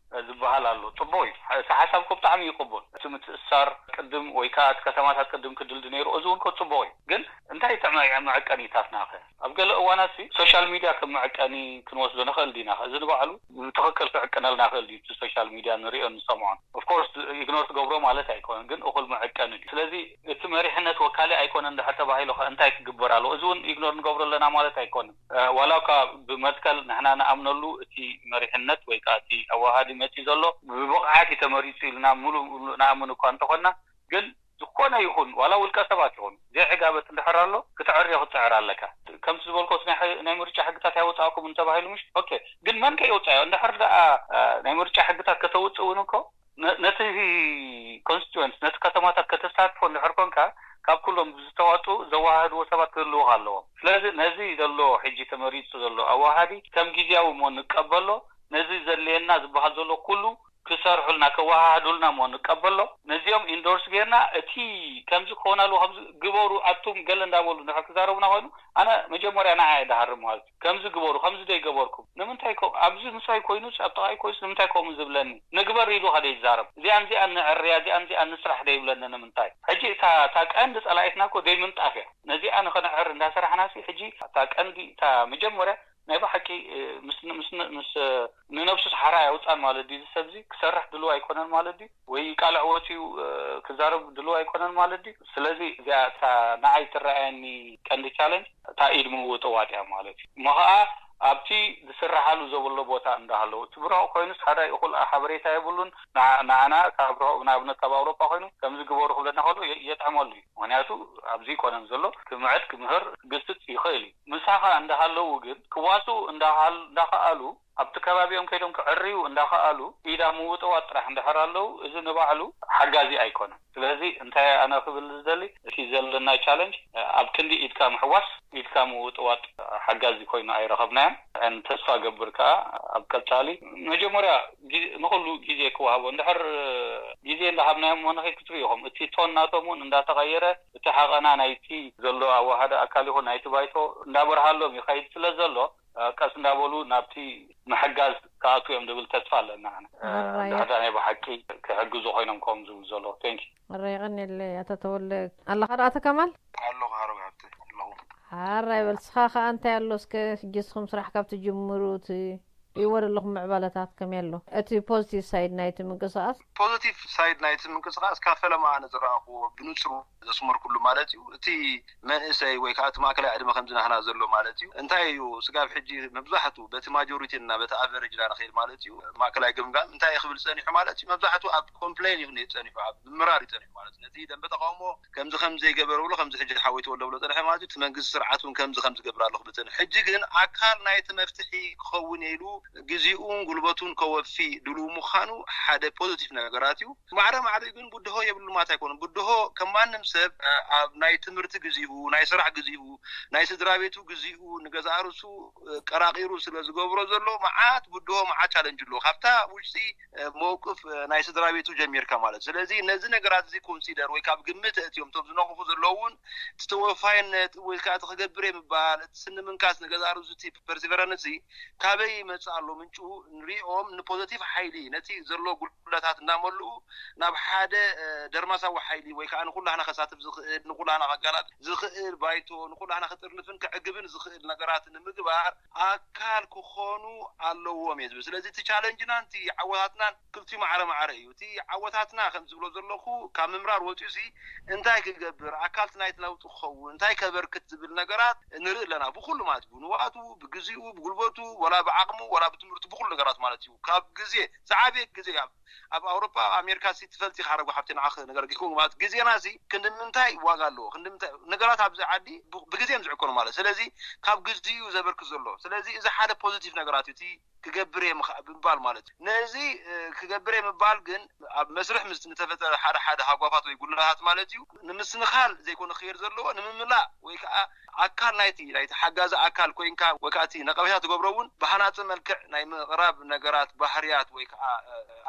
ዝበሃል ኣሎ። ፅቡቅ እዩ። እቲ ሓሳብ ኮ ብጣዕሚ ይቅቡል። እቲ ምትእሳር ቅድም ወይ ከዓ እቲ ከተማታት ቅድም ክድልድ ነይሩ፣ እዚ እውን ኮ ፅቡቅ እዩ። ግን እንታይ እቲ መዐቀኒታትና ከ? ኣብ ገለ እዋናት ሲ ሶሻል ሚድያ ከም መዐቀኒ ክንወስዶ ንኽእል ዲና? እዚ ንባዕሉ ብትኽክል ክዕቅነልና ክእል ድዩ? እቲ ሶሻል ሚድያ ንሪኦ ንሰምዖን ኦፍኮርስ ኢግኖር ትገብሮ ማለት ኣይኮነን፣ ግን እኹል መዐቀኒ ድዩ? ስለዚ እቲ መሪሕነት ወካሊ ኣይኮነን እንድሕር ተባሂሉ ከ እንታይ ክግበር ኣለዎ? እዚ እውን ኢግኖር ንገብሮ ኣለና ማለት ኣይኮነን። ዋላ እኳ ብመትከል ንሕና ንኣምነሉ እቲ መሪሕነት ወይ ከዓ እቲ ኣዋሃዲ መፂ ዘሎ ብብቕዓት እዩ ተመሪፁ ኢልና ሙሉእ ሙሉእ ንኣምን እኳ እንተኾንና ግን ዝኾነ ይኹን ዋላ ውልቀ ሰባት ይኹን ዘይዕጋበት እንድሕር ኣሎ ክትዕርዮ ክትፅዕር ኣለካ። ከምቲ ዝበልኮስ ናይ ምርጫ ሕግታት ያወፃእኩም እንተባሂሉ ምሽ ኦኬ፣ ግን መን ከ የውፃዮ? እንድሕር ደኣ ናይ ምርጫ ሕግታት ከተውፅእ እውን እኮ ነቲ ኮንስቲትወንት ነቲ ከተማታት ከተሳትፎ እንድሕር ኮንካ ካብ ኩሎም ዝተዋፅኡ ዘወሃህድዎ ሰባት ክህልውካ ኣለዎም። ስለዚ ነዚ ዘሎ ሕጂ ተመሪፁ ዘሎ ኣወሃዲ ከም ግዜያዊ እሞ ንቀበሎ። ነዚ ዘድልየና ዝበሃል ዘሎ ኩሉ ክሰርሑልና ከወሃህዱልና እሞ ንቀበሎ። ነዚኦም ኢንዶርስ ጌርና እቲ ከምዚ ክኾን ኣለዎ ከምዚ ግበሩ ኣቱም ገለ እንዳበሉ እንድሕር ክዛረቡና ኮይኑ ኣነ መጀመርያ ንዓ እየ ድሃርም ማለት እዩ። ከምዚ ግበሩ ከምዚ ዶ ይገበርኩም ንምንታይ ኣብዚ ምሳይ ኮይኑስ ኣብ ጥቓይ ኮይኑስ ንምንታይ ከምኡ ዝብለኒ? ንግበር ኢሉ ከደ ይዛረብ። እዚኣን እዚኣን ንዕርያ እዚኣን እዚኣን ንስራሕ ዶ ይብለኒ ንምንታይ? ሕጂ እታ እታ ቀንዲ ጸላኢትና እኮ ደይ ምንጣፍ እያ። ነዚኣ ንኸነዕር እንዳሰራሕናሲ ሕጂ እታ ቀንዲ እታ መጀመርያ ናይ ብሓቂ ምስ ምስ ምስ ንነብሱ ሓራ ያውፃን ማለት ድዩ? እዚ ሰብዚ ክሰርሕ ድልው ኣይኮነን ማለት ድዩ? ወይ ቃልዕ ወፂኡ ክዛረብ ድልው ኣይኮነን ማለት ድዩ? ስለዚ እዚኣ እታ ንዓይ ትረኣየኒ ቀንዲ ቻለንጅ እታ ኢድ ምውጥዋጥ እያ ማለት እዩ። እሞ ከዓ ኣብቲ ዝስራሓሉ ዘብሎ ቦታ እንዳሃለዉ እቲ ብርሑቕ ኮይኑስ ሓደ እኹል ሓበሬታ የብሉን። ንዓና ካብ ርሑቕ ንኣብነት ካብ ኣውሮጳ ኮይኑ ከምዚ ግበሩ ክብለና ከሎ የጥዕመሉ እዩ። ምክንያቱ ኣብዚ ይኮነን ዘሎ ክምዕድ ክምህር ክግስፅ ይኽእል እዩ። ምሳኻ እንዳሃለዉ ግን ክዋስኡ እንዳኸኣሉ ኣብቲ ከባቢኦም ከይዶም ክዕርዩ እንዳኸኣሉ ኢዳ ምውጥዋጥ ጥራሕ እንድሕር ኣለዉ እዚ ንባዕሉ ሓጋዚ ኣይኮነን። ስለዚ እንታይ ኣነ ክብል ዝደሊ እቲ ዘለና ቻለንጅ ኣብ ክንዲ ኢድካ ምሕዋስ ኢድካ ምውጥዋጥ ሓጋዚ ኮይኑ ኣይረኸብናዮን። ተስፋ ገብር ከዓ ኣብ ቀፃሊ መጀመርያ ንኩሉ ግዜ ክወሃቦ እንድሕር ግዜ እንዳሃብናዮም እሞ ንኸይድ ክትርኢ ኢኹም እቲ ቶን ናቶም እውን እንዳተቐየረ እቲ ሓቐና ናይቲ ዘሎ ኣዋሃደ ኣካል ይኹን ናይቲ ባይቶ እንዳበርሃሎም ይኸይድ ስለ ዘሎ ቀስ እንዳበሉ ናብቲ ምሕጋዝ ክኣትዉ እዮም ዝብል ተስፋ ኣለና። ድሕዳ ናይ ብሓቂ ክሕግዙ ኮይኖም ከም ዝብል ዘሎ ቴንክ ረ የቐኒየለይ ኣቶ ተወልደ ኣለኻ ዶ ኣቶ ከማል? ኣለኹ ሃረብ ሃብተ ኣለኹ። ሓራይ በል ስኻ ከኣ እንታይ ኣሎ እስከ ሕጂ እስኹም ስራሕ ካብ ትጅምሩ እቲ ይወ ዘለኹም ምዕባለታት ከመይ ኣሎ እቲ ፖዚቲቭ ሳይድ ናይቲ ምንቅስቃስ? ፖዚቲቭ ሳይድ ናይቲ ምንቅስቃስ ካብ ፈለማ ኣነ ዝረኣኽዎ ብንጹር ዘስመርኩሉ ማለት እዩ እቲ መንእሰይ ወይ ከዓ እቲ ማእከላይ ዕድመ ከምዚ ናህና ዘሎ ማለት እዩ እንታይ እዩ ስጋብ ሕጂ መብዛሕቱ በቲ ማጆሪቲ እና በቲ ኣቨሬጅ ና ንኸይድ ማለት እዩ ማእከላይ ግምጋም እንታይ እዩ ክብል ጸኒሑ ማለት እዩ መብዛሕቱ ኣብ ኮምፕሌን እዩ ጸኒሑ ኣብ ምምራር እዩ ጸኒሑ ማለት እዩ ነቲ ደንበ ተቃውሞ ከምዚ ከም ዘይገበረ ብሎ ከምዚ ሕጂ ሓወይ ተወልደ ብሎ ጸንሐ ማለት እዩ እቲ መንግስቲ ስርዓት እውን ከምዚ ከም ዝገብር ኣለኹ ብጸንሐ ሕጂ ግን ኣካል ናይቲ መፍትሒ ክኸውን ኢሉ ግዜኡን ጉልበቱን ከወፊ ድልው ምዃኑ ሓደ ፖዚቲቭ ነገራት እዩ። ማዕረ ማዕሪኡ ግን ብድሆ የብሉ ማለት ኣይኮነን። ብድሆ ከም ማንም ሰብ ኣብ ናይ ትምህርቲ ግዚኡ፣ ናይ ስራሕ ግዚኡ፣ ናይ ስድራ ቤቱ ግዚኡ ንገዛእ ርእሱ ቀራቒሩ ስለ ዝገብሮ ዘሎ መዓት ብድሆ፣ መዓት ቻለንጅ ኣለዎ። ካብታ ውሽጢ መውቅፍ ናይ ስድራ ቤቱ ጀሚርካ ማለት። ስለዚ ነዚ ነገራት እዚ ኮንሲደር ወይ ካብ ግምት እትዮም ቶም ዝነቕፉ ዘለዉ እውን እቲ ተወፋይነት ወይ ከዓ እቲ ክገብር የምባል፣ እቲ ስኒ ምንካስ ንገዛእ ርእሱ እቲ ፐርሲቨረንስ ካበይ ይመጽእ ኣሎ? ምንጩ ንሪኦም ንፖዘቲቭ ሓይሊ ነቲ ዘሎ ጉድለታት እናመልኡ ናብ ሓደ ደርማሳዊ ሓይሊ ወይ ከዓ ንኩላህና ከሳትፍ ዝኽእል፣ ንኩላህና ከጋላጥ ዝኽእል ባይቶ፣ ንኩላህና ክጥርንፍን ክዕግብን ዝኽእል ነገራት ንምግባር ኣካል ክኾኑ ኣለዎም እየ ዝብል። ስለዚ እቲ ቻለንጅናን እቲ ዓወታትናን ክልቲኡ ማዕረ ማዕረ እዩ። እቲ ዓወታትና ከም ዝብሎ ዘለኹ ካብ ምምራር ወፂኡ ሲ እንታይ ክገብር፣ ኣካልቲ ናይቲ ለውጢ ክኸውን እንታይ ከበርክት ዝብል ነገራት ንርኢ ኣለና። ብኩሉ ማለት እዩ፣ ንዋቱ፣ ብግዚኡ፣ ብጉልበቱ፣ ወላ ብዓቕሙ፣ ወላ ብትምህርቱ፣ ብኩሉ ነገራት ማለት እዩ። ካብ ግዜ ዝዓበየ ግዜ ኣብ ኣብ ኣውሮፓ፣ ኣብ ኣሜሪካ ሲ ትፈልጢ ካረጉ ሓብቲ ንዓኽ ነገር ጊኩም ማለት ግዜና ሲ ክንዲ ምንታይ ዋጋ ኣለዎ፣ ክንዲ ምንታይ ነገራት ኣብዚ ዓዲ ብ- ብግዜ እዮም ዝዕቀኑ ማለት። ስለዚ ካብ ግዜኡ ዘበርክት ዘሎ። ስለዚ እዚ ሓደ ፖዚቲቭ ነገራት እዩ። እቲ ክገብር እየ ምኻ- ብምባል ማለት እዩ። ነዚ እ፣ ክገብር እየ ምባል ግን ኣብ መስርሕ ምስ ንተፈጠረ ሓደ ሓደ ሃጓፋት ወይ ጉድለታት ማለት እዩ ንምስንኻል ዘይኮነ ክሄድ ዘለዎ ንምምላእ ወይ ከዓ ኣካል ናይቲ ናይቲ ሓጋዚ ኣካል ኮይንካ ወይ ከዓ እቲ ነቀፌታ ትገብሮ እውን ብሃናፂ መልክዕ ናይ ምቕራብ ነገራት ባህርያት ወይ ከዓ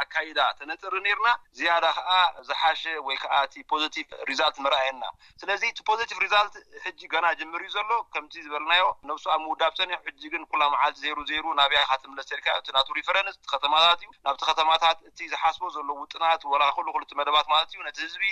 ኣካይዳ ተነፅሪ ነርና ዝያዳ ከዓ ዝሓሸ ወይ ከዓ እቲ ፖዚቲቭ ሪዛልት መርኣየና። ስለዚ እቲ ፖዚቲቭ ሪዛልት ሕጂ ገና ጅምር እዩ ዘሎ። ከምቲ ዝበልናዮ ነብሱ ኣብ ምውዳብ ፀኒሑ ሕጂ ግን ኩላ መዓልቲ ዜሩ ዜሩ ናብያ ካትምለስ ተልካ እቲ ናቱ ሪፈረንስ ከተማታት እዩ። ናብቲ ከተማታት እቲ ዝሓስቦ ዘሎ ውጥናት ወላ ኩሉ ክልቲ መደባት ማለት እዩ ነቲ ህዝቢ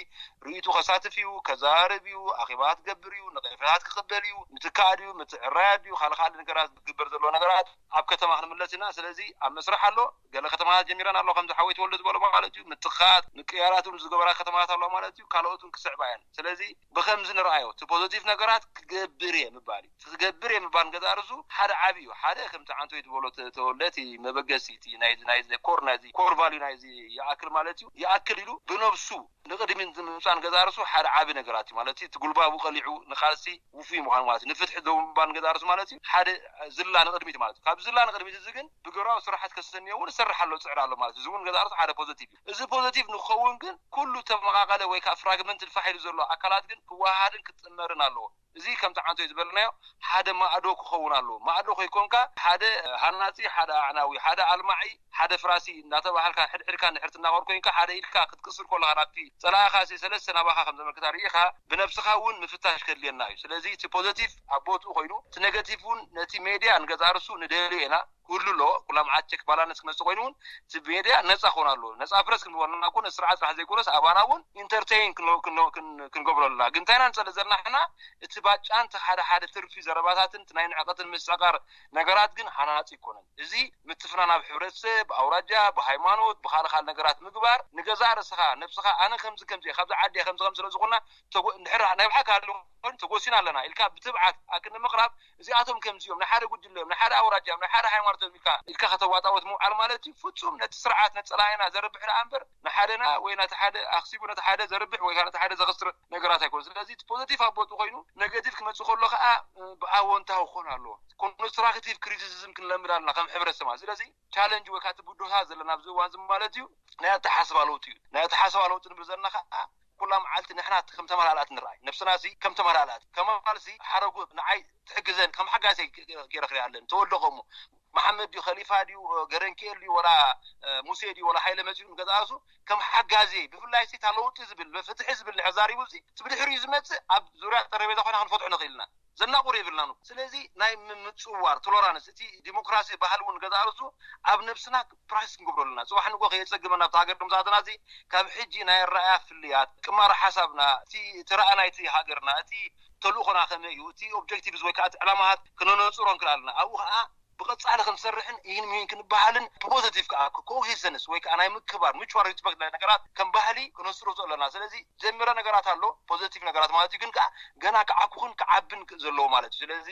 ርእይቱ ከሳትፍ እዩ፣ ከዛርብ እዩ፣ ኣኼባ ክገብር እዩ፣ ነቀፌታት ክቕበል እዩ፣ ምትካእ ድዩ ምትዕራይ ድዩ ካልእ ካልእ ነገራት ዝግበር ዘሎ ነገራት ኣብ ከተማ ክንምለስ ኢና። ስለዚ ኣብ መስርሕ ኣሎ። ገለ ከተማታት ጀሚረን ኣሎ ከምዚ ሓወይ ተወልደ ዝበሎ ማለት እዩ። ምትኻት ምቅያራት እውን ዝገበራ ከተማታት ኣለዋ ማለት እዩ። ካልኦት እውን ክስዕባ እየን። ስለዚ ብከምዚ ንርኣዮ እቲ ፖዘቲቭ ነገራት ክገብር እየ ምባል እዩ። እቲ ክገብር እየ ምባል ንገዛእ ርእሱ ሓደ ዓብዪ እዩ። ሓደ ከምቲ ዓንቶይ ዝበሎ ተ- ተወልደ እቲ መበገሲ እቲ ናይ ናይ ኮር ናይ ኮር ቫልዩ ናይ ይኣክል ማለት እዩ። ይኣክል ኢሉ ብነብሱ ንቅድሚት ምምፃእ ንገዛእ ርእሱ ሓደ ዓቢ ነገራት እዩ ማለት እዩ። እቲ ጉልባቡ ቀሊዑ ንቃልሲ ውፉይ ምዃን ማለት እዩ። ንፍትሒ ደው ምባል ንገዛእ ርእሱ ማለት እዩ። ሓደ ዝላ ንቅድሚት ማለት እዩ። ካብ ዝላ ንቅድሚት እዚ ግን ብግብራዊ ስራሓት ከሰንዮ እውን እሰርሕ ኣሎ፣ ዝፅዕር ኣሎ ማለት እዩ። እዚ እውን ንገዛእ ርእሱ ሓደ ፖዘቲቭ እዩ። እዚ ፖዘቲቭ ንክኸውን ግን ኩሉ ተመቃቀለ ወይ ከዓ ፍራግመንት ልፋሕ ኢሉ ዘሎ ኣካላት ግን ክወሃሃድን ክጥመርን ኣለዎ። እዚ ከምቲ ዓንቶይ ዝበልናዮ ሓደ ማእዶ ክኸውን ኣለዎ። ማእዶ ከይኮንካ ሓደ ሃናፂ፣ ሓደ ኣዕናዊ፣ ሓደ ኣልማዒ፣ ሓደ ፍራሲ እናተባሃልካ ሕድሕድካ ንድሕር ትናቆር ኮይንካ ሓደ ኢድካ ክትቅስር ከለካ ናብቲ ፀላኢኻ ሲ ሰለስተ ናባኻ ከም ዘመልክታ ርኢኻ ብነብስኻ እውን ምፍታሽ ከድልየና እዩ። ስለዚ እቲ ፖዘቲቭ ኣብ ቦትኡ ኮይኑ እቲ ኔጋቲቭ እውን ነቲ ሜድያ ንገዛእ ርእሱ ንደልዮ ኢና ክህሉ ኣለዎ። ኩላ መዓት ቸክ ባላንስ ክመፅእ ኮይኑ እውን እቲ ሜድያ ነፃ ክኾን ኣለዎ። ነፃ ፕረስ ክንበልና እኮ ነቲ ስርዓት ጥራሕ ዘይኮነስ ኣባና እውን ኢንተርቴይን ክንገብሮ ኣለና። ግን እንታይ ኢና ንፀልእ ዘለና ንሕና እቲ ባጫን እቲ ሓደ ሓደ ትርፊ ዘረባታትን እቲ ናይ ንዕቀትን ምስዕቃር ነገራት ግን ሃናፂ ኣይኮነን። እዚ ምትፍናን ኣብ ሕብረተሰብ፣ ብኣውራጃ፣ ብሃይማኖት፣ ብካልእ ካልእ ነገራት ምግባር ንገዛእ ርእስኻ ነብስኻ ኣነ ከምዚ ከምዚ እየ፣ ካብዚ ዓዲ እየ፣ ከምዚ ከምዚ ስለ ዝኾንና ተጎ- እንድሕር ናይ ብሓቂ ሃልዩ ኮይኑ ተጎሲና ኣለና ኢልካ ብትብዓት ኣክንዲ ምቕራብ እዚኣቶም ከምዚኦም ናይ ሓደ ጉጅለ እዮም፣ ናይ ሓደ ኣውራጃ እዮም፣ ናይ ሓደ ሃይማኖት እዮም ኢልካ ኢልካ ከተዋጣወት ምውዓል ማለት እዩ ፍጹም ነቲ ስርዓት ነጸላኢና ዘርብሕ ደኣ እምበር ንሓደና ወይ ነቲ ሓደ ኣኽሲቡ ነቲ ሓደ ዘርብሕ ወይ ነቲ ሓደ ዘኽስር ነገራት ኣይኮነ። ስለዚ እቲ ፖዘቲቭ ኣብ ቦቱ ኮይኑ ኔጋቲቭ ክመጽእ ከሎ ከዓ ብኣወንታዊ ክኾን ኣለዎ። ኮንስትራክቲቭ ክሪቲሲዝም ክንለምድ ኣለና ከም ሕብረተሰብ ማለት። ስለዚ ቻለንጅ ወይ ከዓ እቲ ብድሆታት ዘለና ኣብዚ እዋን እዚ ማለት እዩ ናይ ኣተሓስባ ለውጢ እዩ። ናይ ኣተሓስባ ለውጢ ንብል ዘለና ከዓ ኩላ መዓልቲ ንሕና ከም ተመላላእቲ ንረኣይ ነብስና ሲ ከም ተመላላእቲ ከማል ሲ ሓረጉ ንዓይ ትሕግዘን ከም ሓጋዘይ ገይረ ክሪኣ ኣለኒ ተወልደ ከምኡ መሓመድ ድዩ ከሊፋ ድዩ ገረንክኤል ድዩ ወላ ሙሴ ድዩ ወላ ሃይለ መፂኡ ንገዛእሱ ከም ሓጋዜ ብፍላይ ሲ እታ ለውጢ ዝብል ፍትሒ ዝብል ንሕር ዛሪቡ ሲ እቲ ብድሕሪኡ ዝመፅእ ኣብ ዙርያ ጠረቤዛ ኮይና ክንፈትሖ ንኽእል ኢና ዘናቑር የብልናን። ስለዚ ናይ ምምፅዋር ቶሎራንስ እቲ ዲሞክራሲ ባህሊ እውን ገዛእ ርእሱ ኣብ ነብስና ፕራክቲስ ክንገብሮ ኣለና። ፅባሕ ንጎ ከየፀግመና ኣብቲ ሃገር ከምዝኣተና እዚ ካብ ሕጂ ናይ ኣረኣያ ፍልያት ቅማረ ሓሳብና እቲ እቲ ረኣ ናይቲ ሃገርና እቲ ተልእኾና ከመይ እዩ እቲ ኦብጀክቲቭስ ወይ ከዓ እቲ ዕላማታት ክነነፅሮ ንክእል ኣለና። ኣብኡ ከዓ ብቐፃሊ ክንሰርሕን ይህን ምሂን ክንበሃልን ብፖዘቲቭ ከዓ ኮኤግዚስተንስ ወይ ከዓ ናይ ምክባር ሚቹዋል ሪስፐክት ናይ ነገራት ከም ባህሊ ክነስርፆ ኣለና። ስለዚ ጀምረ ነገራት ኣሎ ፖዘቲቭ ነገራት ማለት እዩ ግን ከዓ ገና ክዓኩኽን ክዓብን ዘለዎ ማለት እዩ። ስለዚ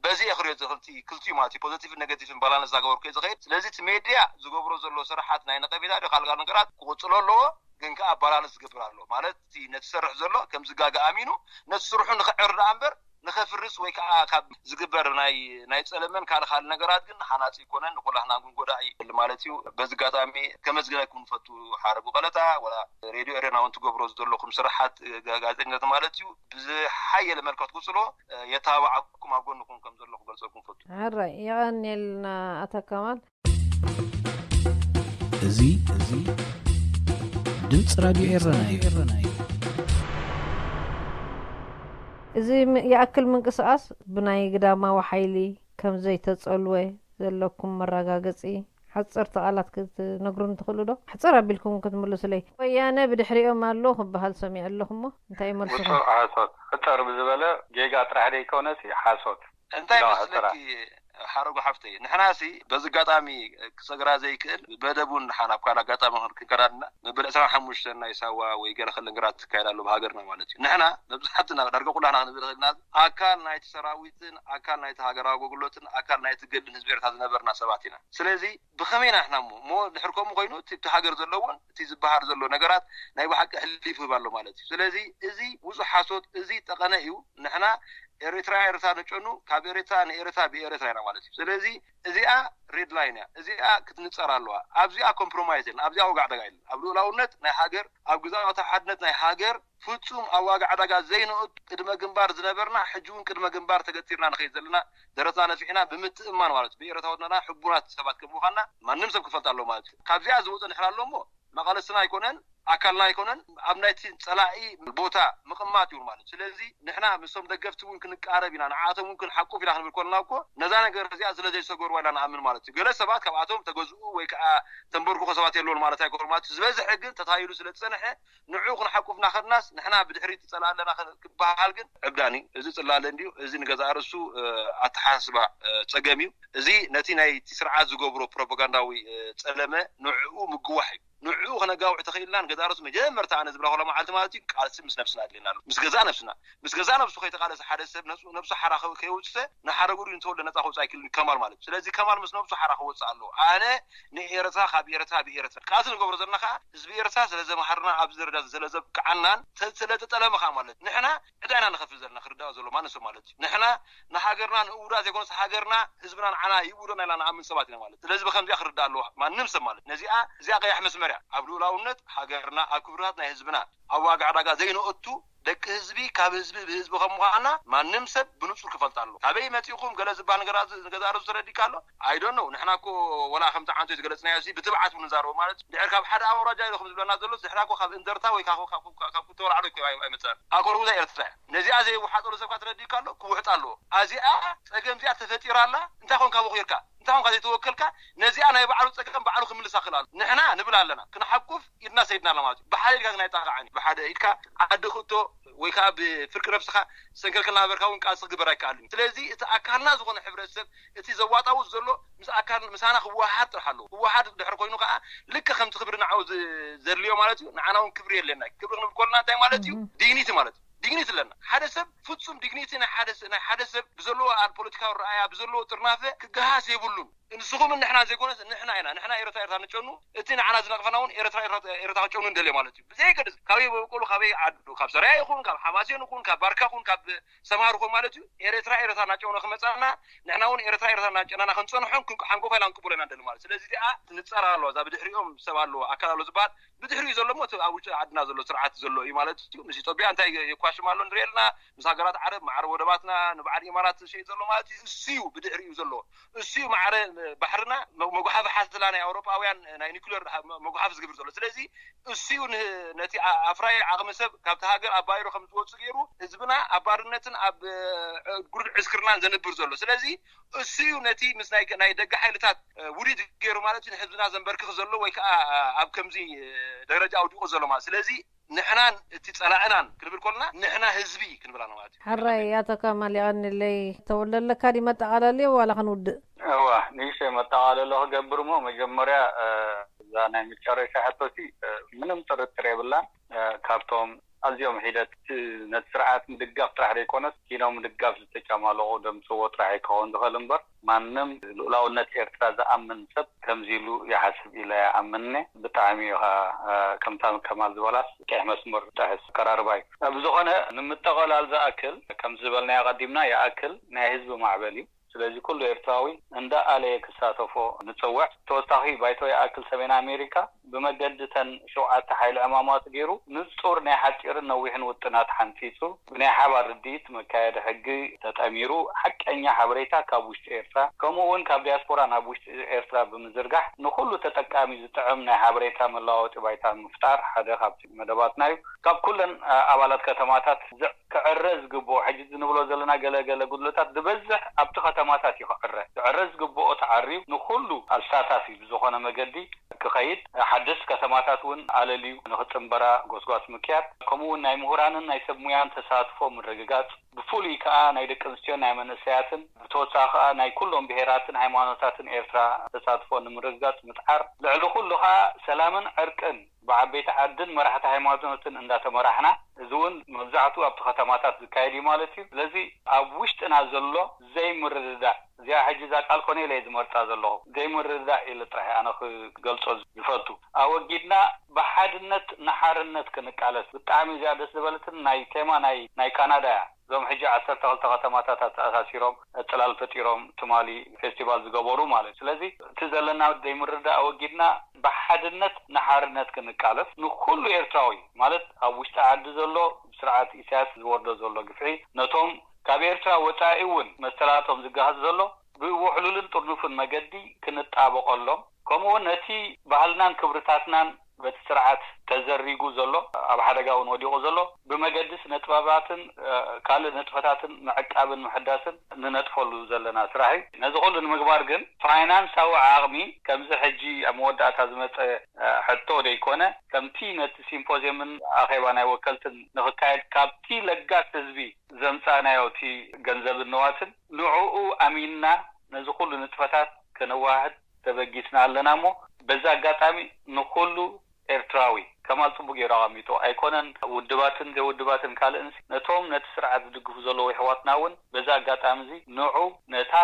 በዚ እየ ክሪኦ ዝኽእል ክልቲኡ ማለት እዩ ፖዘቲቭን ኔጋቲቭን ባላንስ እናገበርኩ እየ ዝኸይድ። ስለዚ እቲ ሜድያ ዝገብሮ ዘሎ ስራሓት ናይ ነቐፌታ ዶ ካልእ ካልእ ነገራት ክቕፅሎ ኣለዎ ግን ከዓ ባላንስ ዝገብር ኣሎ ማለት እቲ ነቲ ዝሰርሕ ዘሎ ከም ዝጋገ ኣሚኑ ነቲ ስርሑ ንክዕር ደኣ እምበር ንኸፍርስ ወይ ከዓ ካብ ዝግበር ናይ ናይ ጸለመን ካልእ ካልእ ነገራት ግን ሃናጺ ኣይኮነን፣ ንኹላህና ግን ጎዳኢ እዩ ማለት እዩ። በዚ ኣጋጣሚ ከመስግነኩም ንፈቱ ሓረጉ ቀለታ ወላ ሬድዮ ኤረና እውን ትገብሮ ዘለኹም ስራሓት ጋ- ጋዜጠኝነት ማለት እዩ ብዝሓየለ መልክዕ ትቅጽሎ፣ እ፣ የተባብዓኩም ኣብ ጎንኹም ከም ዘለኹ ገልጸልኩም ፈቱ። ሕራይ የቐንየልና ኣቶ ከማል። እዚ እዚ ድምፂ ራድዮ ኤረና እዩ። እዚ ም- ይኣክል ምንቅስቃስ ብናይ ግዳማዊ ሓይሊ ከም ዘይተጸልወ ዘለኩም መረጋገጺ ሓፀርቲ ቃላት ክትነግሩን ትኽእሉ ዶ? ሕፅር ኣቢልኩም ክትምልሱለይ። ወያነ ብድሕሪኦም ኣሎ ክበሃል ሰሚዐ ኣለኹ እሞ እንታይ እዩ መልስኹም? ውጹእ ሓሶት። ሕፅር ብዝበለ ጌጋ ጥራሕ ደይኮነሲ ሓሶት። እንታይ ላ- መስለኪ ሓረጉ ሓፍተይ፣ ንሕናሲ በዚ ኣጋጣሚ ክሰግራ ዘይክእል በደቡን ሓን ኣብ ካልእ ኣጋጣሚ ክንከዳድና መበል ዕስራን ሓሙሽተን ናይ ሳዋ ወይ ገለ ክለ ነገራት ትካየድ ኣሎ ብሃገርና ማለት እዩ። ንሕና መብዛሕትና ዳርጋ ኩላና ክንብል ኽእልና ኣካል ናይቲ ሰራዊትን ኣካል ናይቲ ሃገራዊ ኣገልግሎትን ኣካል ናይቲ ገድልን ህዝቢ ኤርትራ ዝነበርና ሰባት ኢና። ስለዚ ብኸመይ ኢና ንሕና እሞ እሞ ድሕር ከምኡ ኮይኑ እቲ እቲ ሃገር ዘለዎን እቲ ዝበሃል ዘሎ ነገራት ናይ ብሓቂ ሕሊፉ ይህብ ኣሎ ማለት እዩ። ስለዚ እዚ ውጹእ ሓሶት እዚ ጠቐነ እዩ። ንሕና ኤርትራ ኤርትራ ንጨኑ ካብ ኤርትራ ንኤርትራ ብኤርትራ ኢና ማለት እዩ። ስለዚ እዚኣ ሬድ ላይን እያ። እዚኣ ክትንጸር ኣለዋ። ኣብዚኣ ኮምፕሮማይዝ የለን። ኣብዚኣ ዋጋ ዕዳጋ የለን። ኣብ ልኡላውነት ናይ ሃገር ኣብ ግዛኣት ሓድነት ናይ ሃገር ፍጹም ኣብ ዋጋ ዕዳጋ ዘይንእቱ ቅድመ ግንባር ዝነበርና ሕጂ እውን ቅድመ ግንባር ተገቲርና ንኸይድ ዘለና ደረትና ነፊሕና ብምትእማን ማለት እዩ። ብኤረታውነትና ሕቡናት ሰባት ከም ምዃንና ማንም ሰብ ክፈልጥ ኣለዎ ማለት እዩ። ካብዚኣ ዝወፀ ንሕና ኣሎ እሞ መቐለስና ኣይኮነን ኣካልና ኣይኮነን ኣብ ናይቲ ፀላኢ ቦታ ምቕማጥ እዩ ማለት እዩ። ስለዚ ንሕና ምስቶም ደገፍቲ እውን ክንቃረብ ኢና ንዓቶም እውን ክንሓቁፍ ኢና ክንብል ኮለና እኮ ነዛ ነገር እዚኣ ስለ ዘይሰገርዋ ኢና ንኣምን ማለት እዩ። ገለ ሰባት ካብኣቶም ተገዝኡ ወይ ከዓ ተንበርክኾ ሰባት የለውን ማለት ኣይኮነ ማለት እዩ። ዝበዝሐ ግን ተታይሉ ስለ ዝፀንሐ ንዑ ክንሓቁፍ እናኸድናስ ንሕና ብድሕሪት ፀላ ኣለና ክበሃል ግን ዕብዳን እዩ። እዚ ፅላለ እንድዩ። እዚ ንገዛእ ርእሱ ኣተሓሳስባ ፀገም እዩ። እዚ ነቲ ናይቲ ስርዓት ዝገብሮ ፕሮፓጋንዳዊ ፀለመ ንዕኡ ምግዋሕ እዩ። ንዕኡ ከነጋውሕ ተኽኢልና ንገዛእ ርእሱ መጀመርታ ኣነ ዝብላ ኮላ መዓልቲ ማለት እዩ ቃልሲ ምስ ነብስና ኣድልየና ኣሎ። ምስ ገዛእ ነብስና ምስ ገዛእ ነብሱ ከይተቃለሰ ሓደ ሰብ ነብሱ ሓራ ከይወፅሰ ንሓረጉ ንተወልደ ነፃ ከውፅእ ኣይክልን ከማል ማለት እዩ። ስለዚ ከማል ምስ ነብሱ ሓራ ክወፅእ ኣለዎ። ኣነ ንኤርትራ ካብ ኤርትራ ብኤርትራ ቃልሲ ንገብሮ ዘለና ከዓ ህዝቢ ኤርትራ ስለ ዘምሃርና ኣብዚ ደረጃ ስለ ዘብቅዓናን ስለተጠለመ ከዓ ማለት ንሕና ዕዳ ኢና ንኸፍል ዘለና ክርዳእ ዘሎ ማንም ሰብ ማለት እዩ። ንሕና ንሃገርና ንእውዳ ዘይኮነስ ሃገርና ህዝብና ንዓና ይእውደና ኢልና ንኣምን ሰባት ኢና ማለት ስለዚ ብከምዚኣ ክርዳእ ኣለዎ ማንም ሰብ ማለት ነዚኣ እዚኣ ቀያሕ መስመር እያ ኣብ ልኡላውነት ሃገርና ኣብ ክብርታት ናይ ህዝብና ኣብ ዋጋ ዕዳጋ ዘይንእቱ ደቂ ህዝቢ ካብ ህዝቢ ብህዝቢ ከም ምዃና ማንም ሰብ ብንጹር ክፈልጥ ኣሎ። ካበይ መጺኹም ገለ ዝበሃል ነገራት ንገዛእ ርእሱ ተረዲካ ኣሎ። I don't know ንሕና እኮ ወላ ከምቲ ዓንቶ ዝገለጽናዮ እዚ ብትብዓት ንዛረቦ ማለት ድሕር ካብ ሓደ ኣውራጃ ኢሉ ከም ዝብለና ዘሎ ንሕና እኮ ካብ እንደርታ ወይ ካብ ክልተ ወላዕሎ ኣይመጸን። ኣኮርጉዛ ኤርትራ እያ። ነዚኣ ዘይወሓጠሉ ሰብካ ተረዲካ ኣሎ ክውሕጥ ኣለዎ። ኣዚኣ ጸገም እዚኣ ተፈጢራ ኣላ እንታይ ኮንካ በኺርካ እንታይ ኮንካ ዘይተወከልካ ነዚኣ ናይ ባዕሉ ጸገም ባዕሉ ክምልሳ ክእል ኣሎ። ንሕና ንብል ኣለና ክንሓቁፍ ኢድና ሰይድና ኣሎ ማለት እዩ። ብሓደ ኢድካ ግን ኣይጣቃዓን እዩ። ብሓደ ኢድካ ዓዲ ክእቶ ወይ ከዓ ብፍርቂ ነብስኻ ሰንከልከል እናበርካ እውን ቃልሲ ክግበር ኣይከኣልን እዩ። ስለዚ እቲ ኣካልና ዝኾነ ሕብረተሰብ እቲ ዘዋጣውጥ ዘሎ ምስ ኣካል ምሳና ክወሃሃድ ጥራሕ ኣለዎ። ክወሃሃድ ድሕሪ ኮይኑ ከዓ ልክዕ ከምቲ ክብሪ ንዓው ዘድልዮ ማለት እዩ። ንዓና እውን ክብሪ የድልየና እዩ። ክብሪ ክንብል ከለና እንታይ ማለት እዩ? ዲግኒቲ ማለት እዩ። ዲግኒቲ ኣለና። ሓደ ሰብ ፍጹም ዲግኒቲ ናይ ሓደ ሰብ ብዘለዎ ፖለቲካዊ ረኣያ ብዘለዎ ጥርናፈ ክገሃስ የብሉን። ንስኹምን ንሕና ዘይኮነስ ንሕና ኢና ንሕና ኤረትራ ኤረትራ ንጨኑ እቲ ንዓና ዝነቕፈና እውን ኤረትራ ኤረትራ ክጨኑ እንደልዮ ማለት እዩ። ብዘይገድስ ካበይ በበቆሉ ካበይ ዓዱ ካብ ሰራያ ይኹን ካብ ሓማሴን ይኹን ካብ ባርካ ይኹን ካብ ሰምሃር ይኹን ማለት እዩ ኤረትራ ኤረትራ እናጨኑ ክመፃና ንሕና እውን ኤረትራ ኤረትራ እናጨናና ክንፀንሖን ሓንጎፋ ኢላ ክንቅበሎ ኢና እንደሊ ማለት ስለዚ እዚኣ ትንፀር ኣለዋ እዛ ብድሕሪኦም ሰብ ኣለዎ ኣካል ኣሎ ዝበሃል ብድሕሪኡ ዘሎ ሞ ኣብ ውጭ ዓድና ዘሎ ስርዓት ዘሎ እዩ ማለት እዩ። ምስ ኢትዮጵያ እንታይ የኳሽም ኣሎ ንሪኤልና ምስ ሃገራት ዓረብ ማዕረ ወደባትና ንበዓል ኢማራት ዝሸይጥ ዘሎ ማለት እዩ። እሱ እዩ ብድሕሪኡ ዘሎ እሱ እዩ ማዕረ ባሕርና መጉሓፊ ሓዝላ ናይ ኣውሮጳውያን ናይ ኒኩሌር መጉሓፊ ዝግብር ዘሎ ስለዚ እሱ እዩ ነቲ ኣፍራይ ዓቕሚ ሰብ ካብቲ ሃገር ኣባይሩ ከም ዝወፁ ገይሩ ህዝብና ኣብ ባርነትን ኣብ ጉርድ ዕስክርናን ዘንብር ዘሎ ስለዚ እሱ እዩ ነቲ ምስ ናይ ደገ ሓይልታት ውዲት ገይሩ ማለት እዩ ንህዝብና ዘንበርክኽ ዘሎ ወይ ከዓ ኣብ ከምዚ ደረጃ ኣውዲቑ ዘሎ ማለት ስለዚ ንሕናን እቲ ፀላእናን ክንብል ከለና ንሕና ህዝቢ ክንብል ኣለና ማለት እዩ። ሕራይ ኣቶ ከማል የቐንለይ ተወልደ ኣለካ ድዩ መጠቓለሊ ዋላ ክንውድእ? እዋ ንእሽተይ መጠቓለሎ ክገብር እሞ መጀመርያ እዛ ናይ መጨረሻ ሕቶሲ ምንም ጥርጥር የብላን ካብቶም ኣዝዮም ሒደት ነቲ ስርዓት ምድጋፍ ጥራሕ ዘይኮነስ ኪኖ ምድጋፍ ዝተጫማለቑ ደምስዎ ጥራሕ ኣይከውን ዝኽእል እምበር ማንም ልኡላውነት ኤርትራ ዝኣምን ሰብ ከምዚ ኢሉ ይሓስብ ኢለ ይኣምንኒ። ብጣዕሚ እዩ ኸዓ ከምታ ከማል ዝበላስ ቀይሕ መስመር ጥሕስ ኣቀራርባ እዩ። ብዝኾነ ንምጠቐላል ዝኣክል ከምዚ ዝበልናዮ ቀዲምና ይኣክል ናይ ህዝቢ ማዕበል እዩ። ስለዚ ኩሉ ኤርትራዊ እንዳኣለየ ክሳተፎ ንጽውዕ። ተወሳኺ ባይቶ ይኣክል ሰሜን ኣሜሪካ ብመገዲ ተን ሸውዓተ ሓይሊ ዕማማት ገይሩ ንጹር ናይ ሓጺርን ነዊሕን ውጥናት ሓንጺጹ ብናይ ሓባር ርድኢት መካየዲ ሕጊ ተጠሚሩ ሓቀኛ ሓበሬታ ካብ ውሽጢ ኤርትራ ከምኡ እውን ካብ ዲያስፖራ ናብ ውሽጢ ኤርትራ ብምዝርጋሕ ንኹሉ ተጠቃሚ ዝጥዕም ናይ ሓበሬታ መለዋወጢ ባይታ ምፍጣር ሓደ ካብቲ መደባትና እዩ። ካብ ኩለን ኣባላት ከተማታት ክዕረ ዝግብኦ ሕጂ ንብሎ ዘለና ገለ ገለ ጉድለታት ዝበዝሕ ኣብቲ ከተማታት እዩ ክዕረ። ክዕረ ዝግብኦ ተዓርዩ ንኹሉ ኣሳታፊ ብዝኾነ መገዲ ክኸይድ ሓደስቲ ከተማታት እውን ኣለልዩ ንኽጽንበራ ጎስጓስ ምክያድ ከምኡ እውን ናይ ምሁራንን ናይ ሰብ ሙያን ተሳትፎ ምርግጋጽ ብፍሉይ ከኣ ናይ ደቂ ኣንስትዮን ናይ መንእሰያትን ብተወሳኺ ከኣ ናይ ኩሎም ብሄራትን ሃይማኖታትን ኤርትራ ተሳትፎ ንምርግጋጽ ምጽዓር ልዕሊ ኩሉ ከኣ ሰላምን ዕርቅን ብዓበይቲ ዓድን መራሕቲ ሃይማኖትን እንዳተመራሕና እዚ እውን መብዛሕትኡ ኣብቲ ከተማታት ዝካየድ እዩ ማለት እዩ። ስለዚ ኣብ ውሽጥና ዘሎ ዘይምርድዳእ እዚኣ ሕጂ እዛ ቃል ኮነ ኢለ ዝመርጻ ዘለኹ ዘይምርድዳእ ኢለ ጥራሕ ኣነ ክገልጾ ዝፈቱ ኣወጊድና ብሓድነት ንሓርነት ክንቃለስ ብጣዕሚ እዚኣ ደስ ዝበለትን ናይ ቴማ ናይ ናይ ካናዳ እያ። እዞም ሕጂ ዓሰርተ ክልተ ከተማታት ኣተኣሳሲሮም ዕፅላል ፈጢሮም ትማሊ ፌስቲቫል ዝገበሩ ማለት እዩ። ስለዚ እቲ ዘለና ዘይምርዳእ ኣወጊድና ብሓድነት ንሓርነት ክንቃለስ ንኩሉ ኤርትራዊ ማለት ኣብ ውሽጢ ዓዲ ዘሎ ብስርዓት ኢሳያስ ዝወርዶ ዘሎ ግፍዒ ነቶም ካብ ኤርትራ ወፃኢ እውን መሰላቶም ዝገሃስ ዘሎ ብውሕሉልን ጥርኑፍን መገዲ ክንጣበቐሎም ከምኡ እውን ነቲ ባህልናን ክብርታትናን በቲ ስርዓት ተዘሪጉ ዘሎ ኣብ ሓደጋ እውን ወዲቑ ዘሎ ብመገዲ ስነ ጥበባትን ካልእ ንጥፈታትን ምዕቃብን ምሕዳስን ንነጥፈሉ ዘለና ስራሕ እዩ። ነዚ ኩሉ ንምግባር ግን ፋይናንሳዊ ዓቕሚ ከምዚ ሕጂ ኣብ መወዳእታ ዝመፀ ሕቶ ዘይኮነ ከምቲ ነቲ ሲምፖዝየምን ኣኼባ ናይ ወከልትን ንኽካየድ ካብቲ ለጋስ ህዝቢ ዘምፃእናዮ እቲ ገንዘብን ንዋትን ንዕኡ ኣሚንና ነዚ ኩሉ ንጥፈታት ከነዋህድ ተበጊስና ኣለና እሞ በዚ ኣጋጣሚ ንኩሉ ኤርትራዊ ከማል ጽቡቅ ገይሩ ኣቐሚጡ ኣይኮነን ውድባትን ዘይውድባትን ካልእን ነቶም ነቲ ስርዓት ዝድግፉ ዘለዉ ይሕዋትና እውን በዚ ኣጋጣሚ እዚ ንዑ ነታ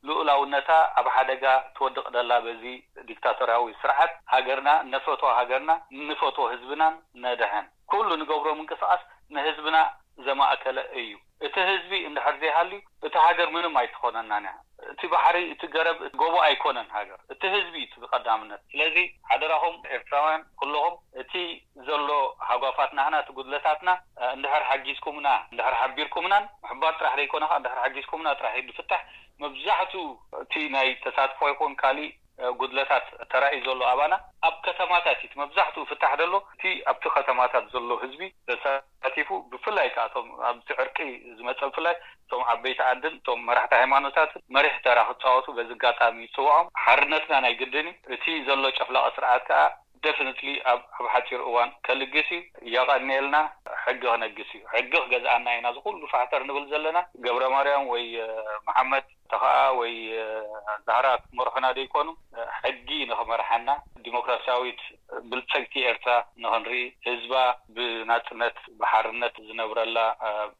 ልኡላውነታ ኣብ ሓደጋ ትወድቕ ደላ በዚ ዲክታቶርያዊ ስርዓት ሃገርና እነፈትዋ ሃገርና እንፈትዎ ህዝብናን ነድሕን ኩሉ ንገብሮ ምንቅስቃስ ንህዝብና ዘማእከለ እዩ። እቲ ህዝቢ እንድሕር ዘይሃልዩ እታ ሃገር ምንም ኣይትኾነናን እያ። እቲ ባሕሪ እቲ ገረብ እቲ ጎቦ ኣይኮነን ሃገር እቲ ህዝቢ እዩ እቲ ብቀዳምነት። ስለዚ ሓደራኹም ኤርትራውያን ኩልኹም እቲ ዘሎ ሃጓፋት ናህና እቲ ጉድለታትና እንድሕር ሓጊዝኩምና እንድሕር ሓቢርኩምናን ምሕባር ጥራሕ ዘይኮነ ከዓ እንድሕር ሓጊዝኩምና ጥራሕ እዩ ዝፍታሕ። መብዛሕቱ እቲ ናይ ተሳትፎ ይኹን ካሊእ ጉድለታት ተራእዩ ዘሎ ኣባና ኣብ ከተማታት እዩ መብዛሕትኡ ፍታሕ ደሎ እቲ ኣብቲ ከተማታት ዘሎ ህዝቢ ተሳቲፉ ብፍላይ ከዓ እቶም ኣብቲ ዕርቂ ዝመፀ ብፍላይ እቶም ዓበይቲ ዓድን እቶም መራሕቲ ሃይማኖታትን መሪሕ ተራ ክፃወቱ በዚ ኣጋጣሚ ይፅውዖም። ሓርነትና ናይ ግድን እዩ። እቲ ዘሎ ጨፍላቂ ስርዓት ከዓ ደፍንትሊ ኣብ ኣብ ሓፂር እዋን ከልግስ እዩ። የቐንየልና። ሕጊ ክነግስ እዩ። ሕጊ ክገዝኣና ኢና እዚ ኩሉ ፋሕተር ንብል ዘለና። ገብረ ማርያም ወይ መሓመድ ተኸኣ ወይ ዛህራ ክመርሑና ዘይኮኑ ሕጊ ንኽመርሓና ዲሞክራሲያዊት ብልፅግቲ ኤርትራ ንኽንርኢ ህዝባ ብናፅነት ብሓርነት ዝነብረላ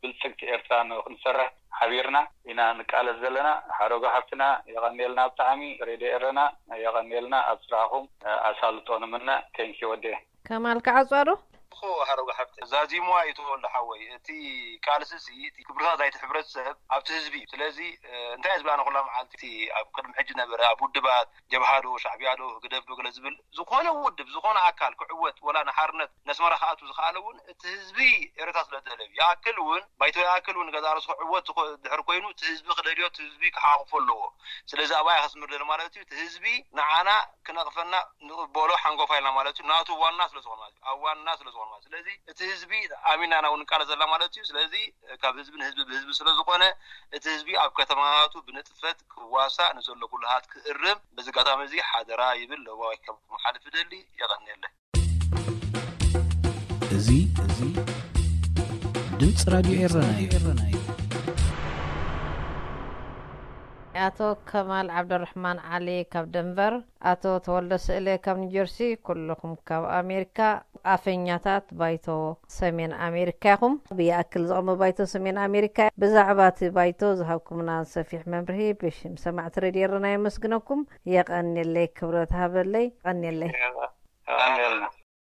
ብልፅግቲ ኤርትራ ንኽንሰርሕ ሓቢርና ኢና ንቃለስ ዘለና። ሓረጎ ሓፍትና የቐንየልና ብጣዕሚ ሬድዮ ኤረና የቐንየልና ኣብ ስራሕኹም ኣሳልጦ ንምነ። ቴንኪ ወዴ። ከማል ክዓፅዋ ዶ? እኮ ሓረጎ ሓፍቲ ዛዚምዋ እዩ ተወልደ ሓወይ። እቲ ቃልሲ ሲ እቲ ክብርታት ናይቲ ሕብረተሰብ ኣብቲ ህዝቢ እዩ። ስለዚ እንታይ ዝብላና ኩላ መዓልቲ እቲ ኣብ ቅድሚ ሕጂ ነበረ ኣብ ውድባት ጀብሃ ዶ ሻዕቢያ ዶ ህግደፍ ዶ ገለ ዝብል ዝኾነ ውድብ ዝኾነ ኣካል ክዕወት ወላ ንሓርነት ነስመራ ክኣቱ ዝኸኣለ እውን እቲ ህዝቢ ኤረታ ስለ ዝደለብ ይኣክል እውን ባይቶ ይኣክል እውን ገዛ ርእሱ ክዕወት ድሕር ኮይኑ እቲ ህዝቢ ክደልዮ እቲ ህዝቢ ክሓቑፎ ኣለዎ። ስለዚ ኣብኣ ከስምር ደሊ ማለት እዩ። እቲ ህዝቢ ንዓና ክነቕፈና ንቕበሎ ሓንጎፋ ኢልና ማለት እዩ። ናቱ ዋና ስለ ዝኾነ ማለት እዩ። ኣብ ዋና ስለ ዝኾነ ማለት ስለዚ እቲ ህዝቢ ኣሚና ናው ንቃለ ዘላ ማለት እዩ። ስለዚ ካብ ህዝቢ ንህዝቢ ብህዝቢ ስለ ዝኾነ እቲ ህዝቢ ኣብ ከተማታቱ ብንጥፈት ክዋሳእ ንዘሎ ኩልሃት ክእርም በዚ ኣጋጣሚ እዚ ሓደራ ይብል ለዋይ ከመሓልፍ ደሊ። የቐንየለ። እዚ እዚ ድምፂ ራድዮ ኤረና እዩ። ኣቶ ከማል ዓብደራሕማን ዓሊ ካብ ደንቨር፣ ኣቶ ተወልደ ስእለ ካብ ኒውጀርሲ፣ ኩልኹም ካብ ኣሜሪካ፣ ኣፈኛታት ባይቶ ሰሜን ኣሜሪካ ኢኹም። ብይኣክል ዝቐመ ባይቶ ሰሜን ኣሜሪካ፣ ብዛዕባ እቲ ባይቶ ዝሃብኩምና ሰፊሕ መምርሂ ብሽም ሰማዕቲ ሬድዮ ኤረና የመስግነኩም። የቐንየለይ፣ ክብረት ሃበለይ። የቐንየለይ። የቐንየልና።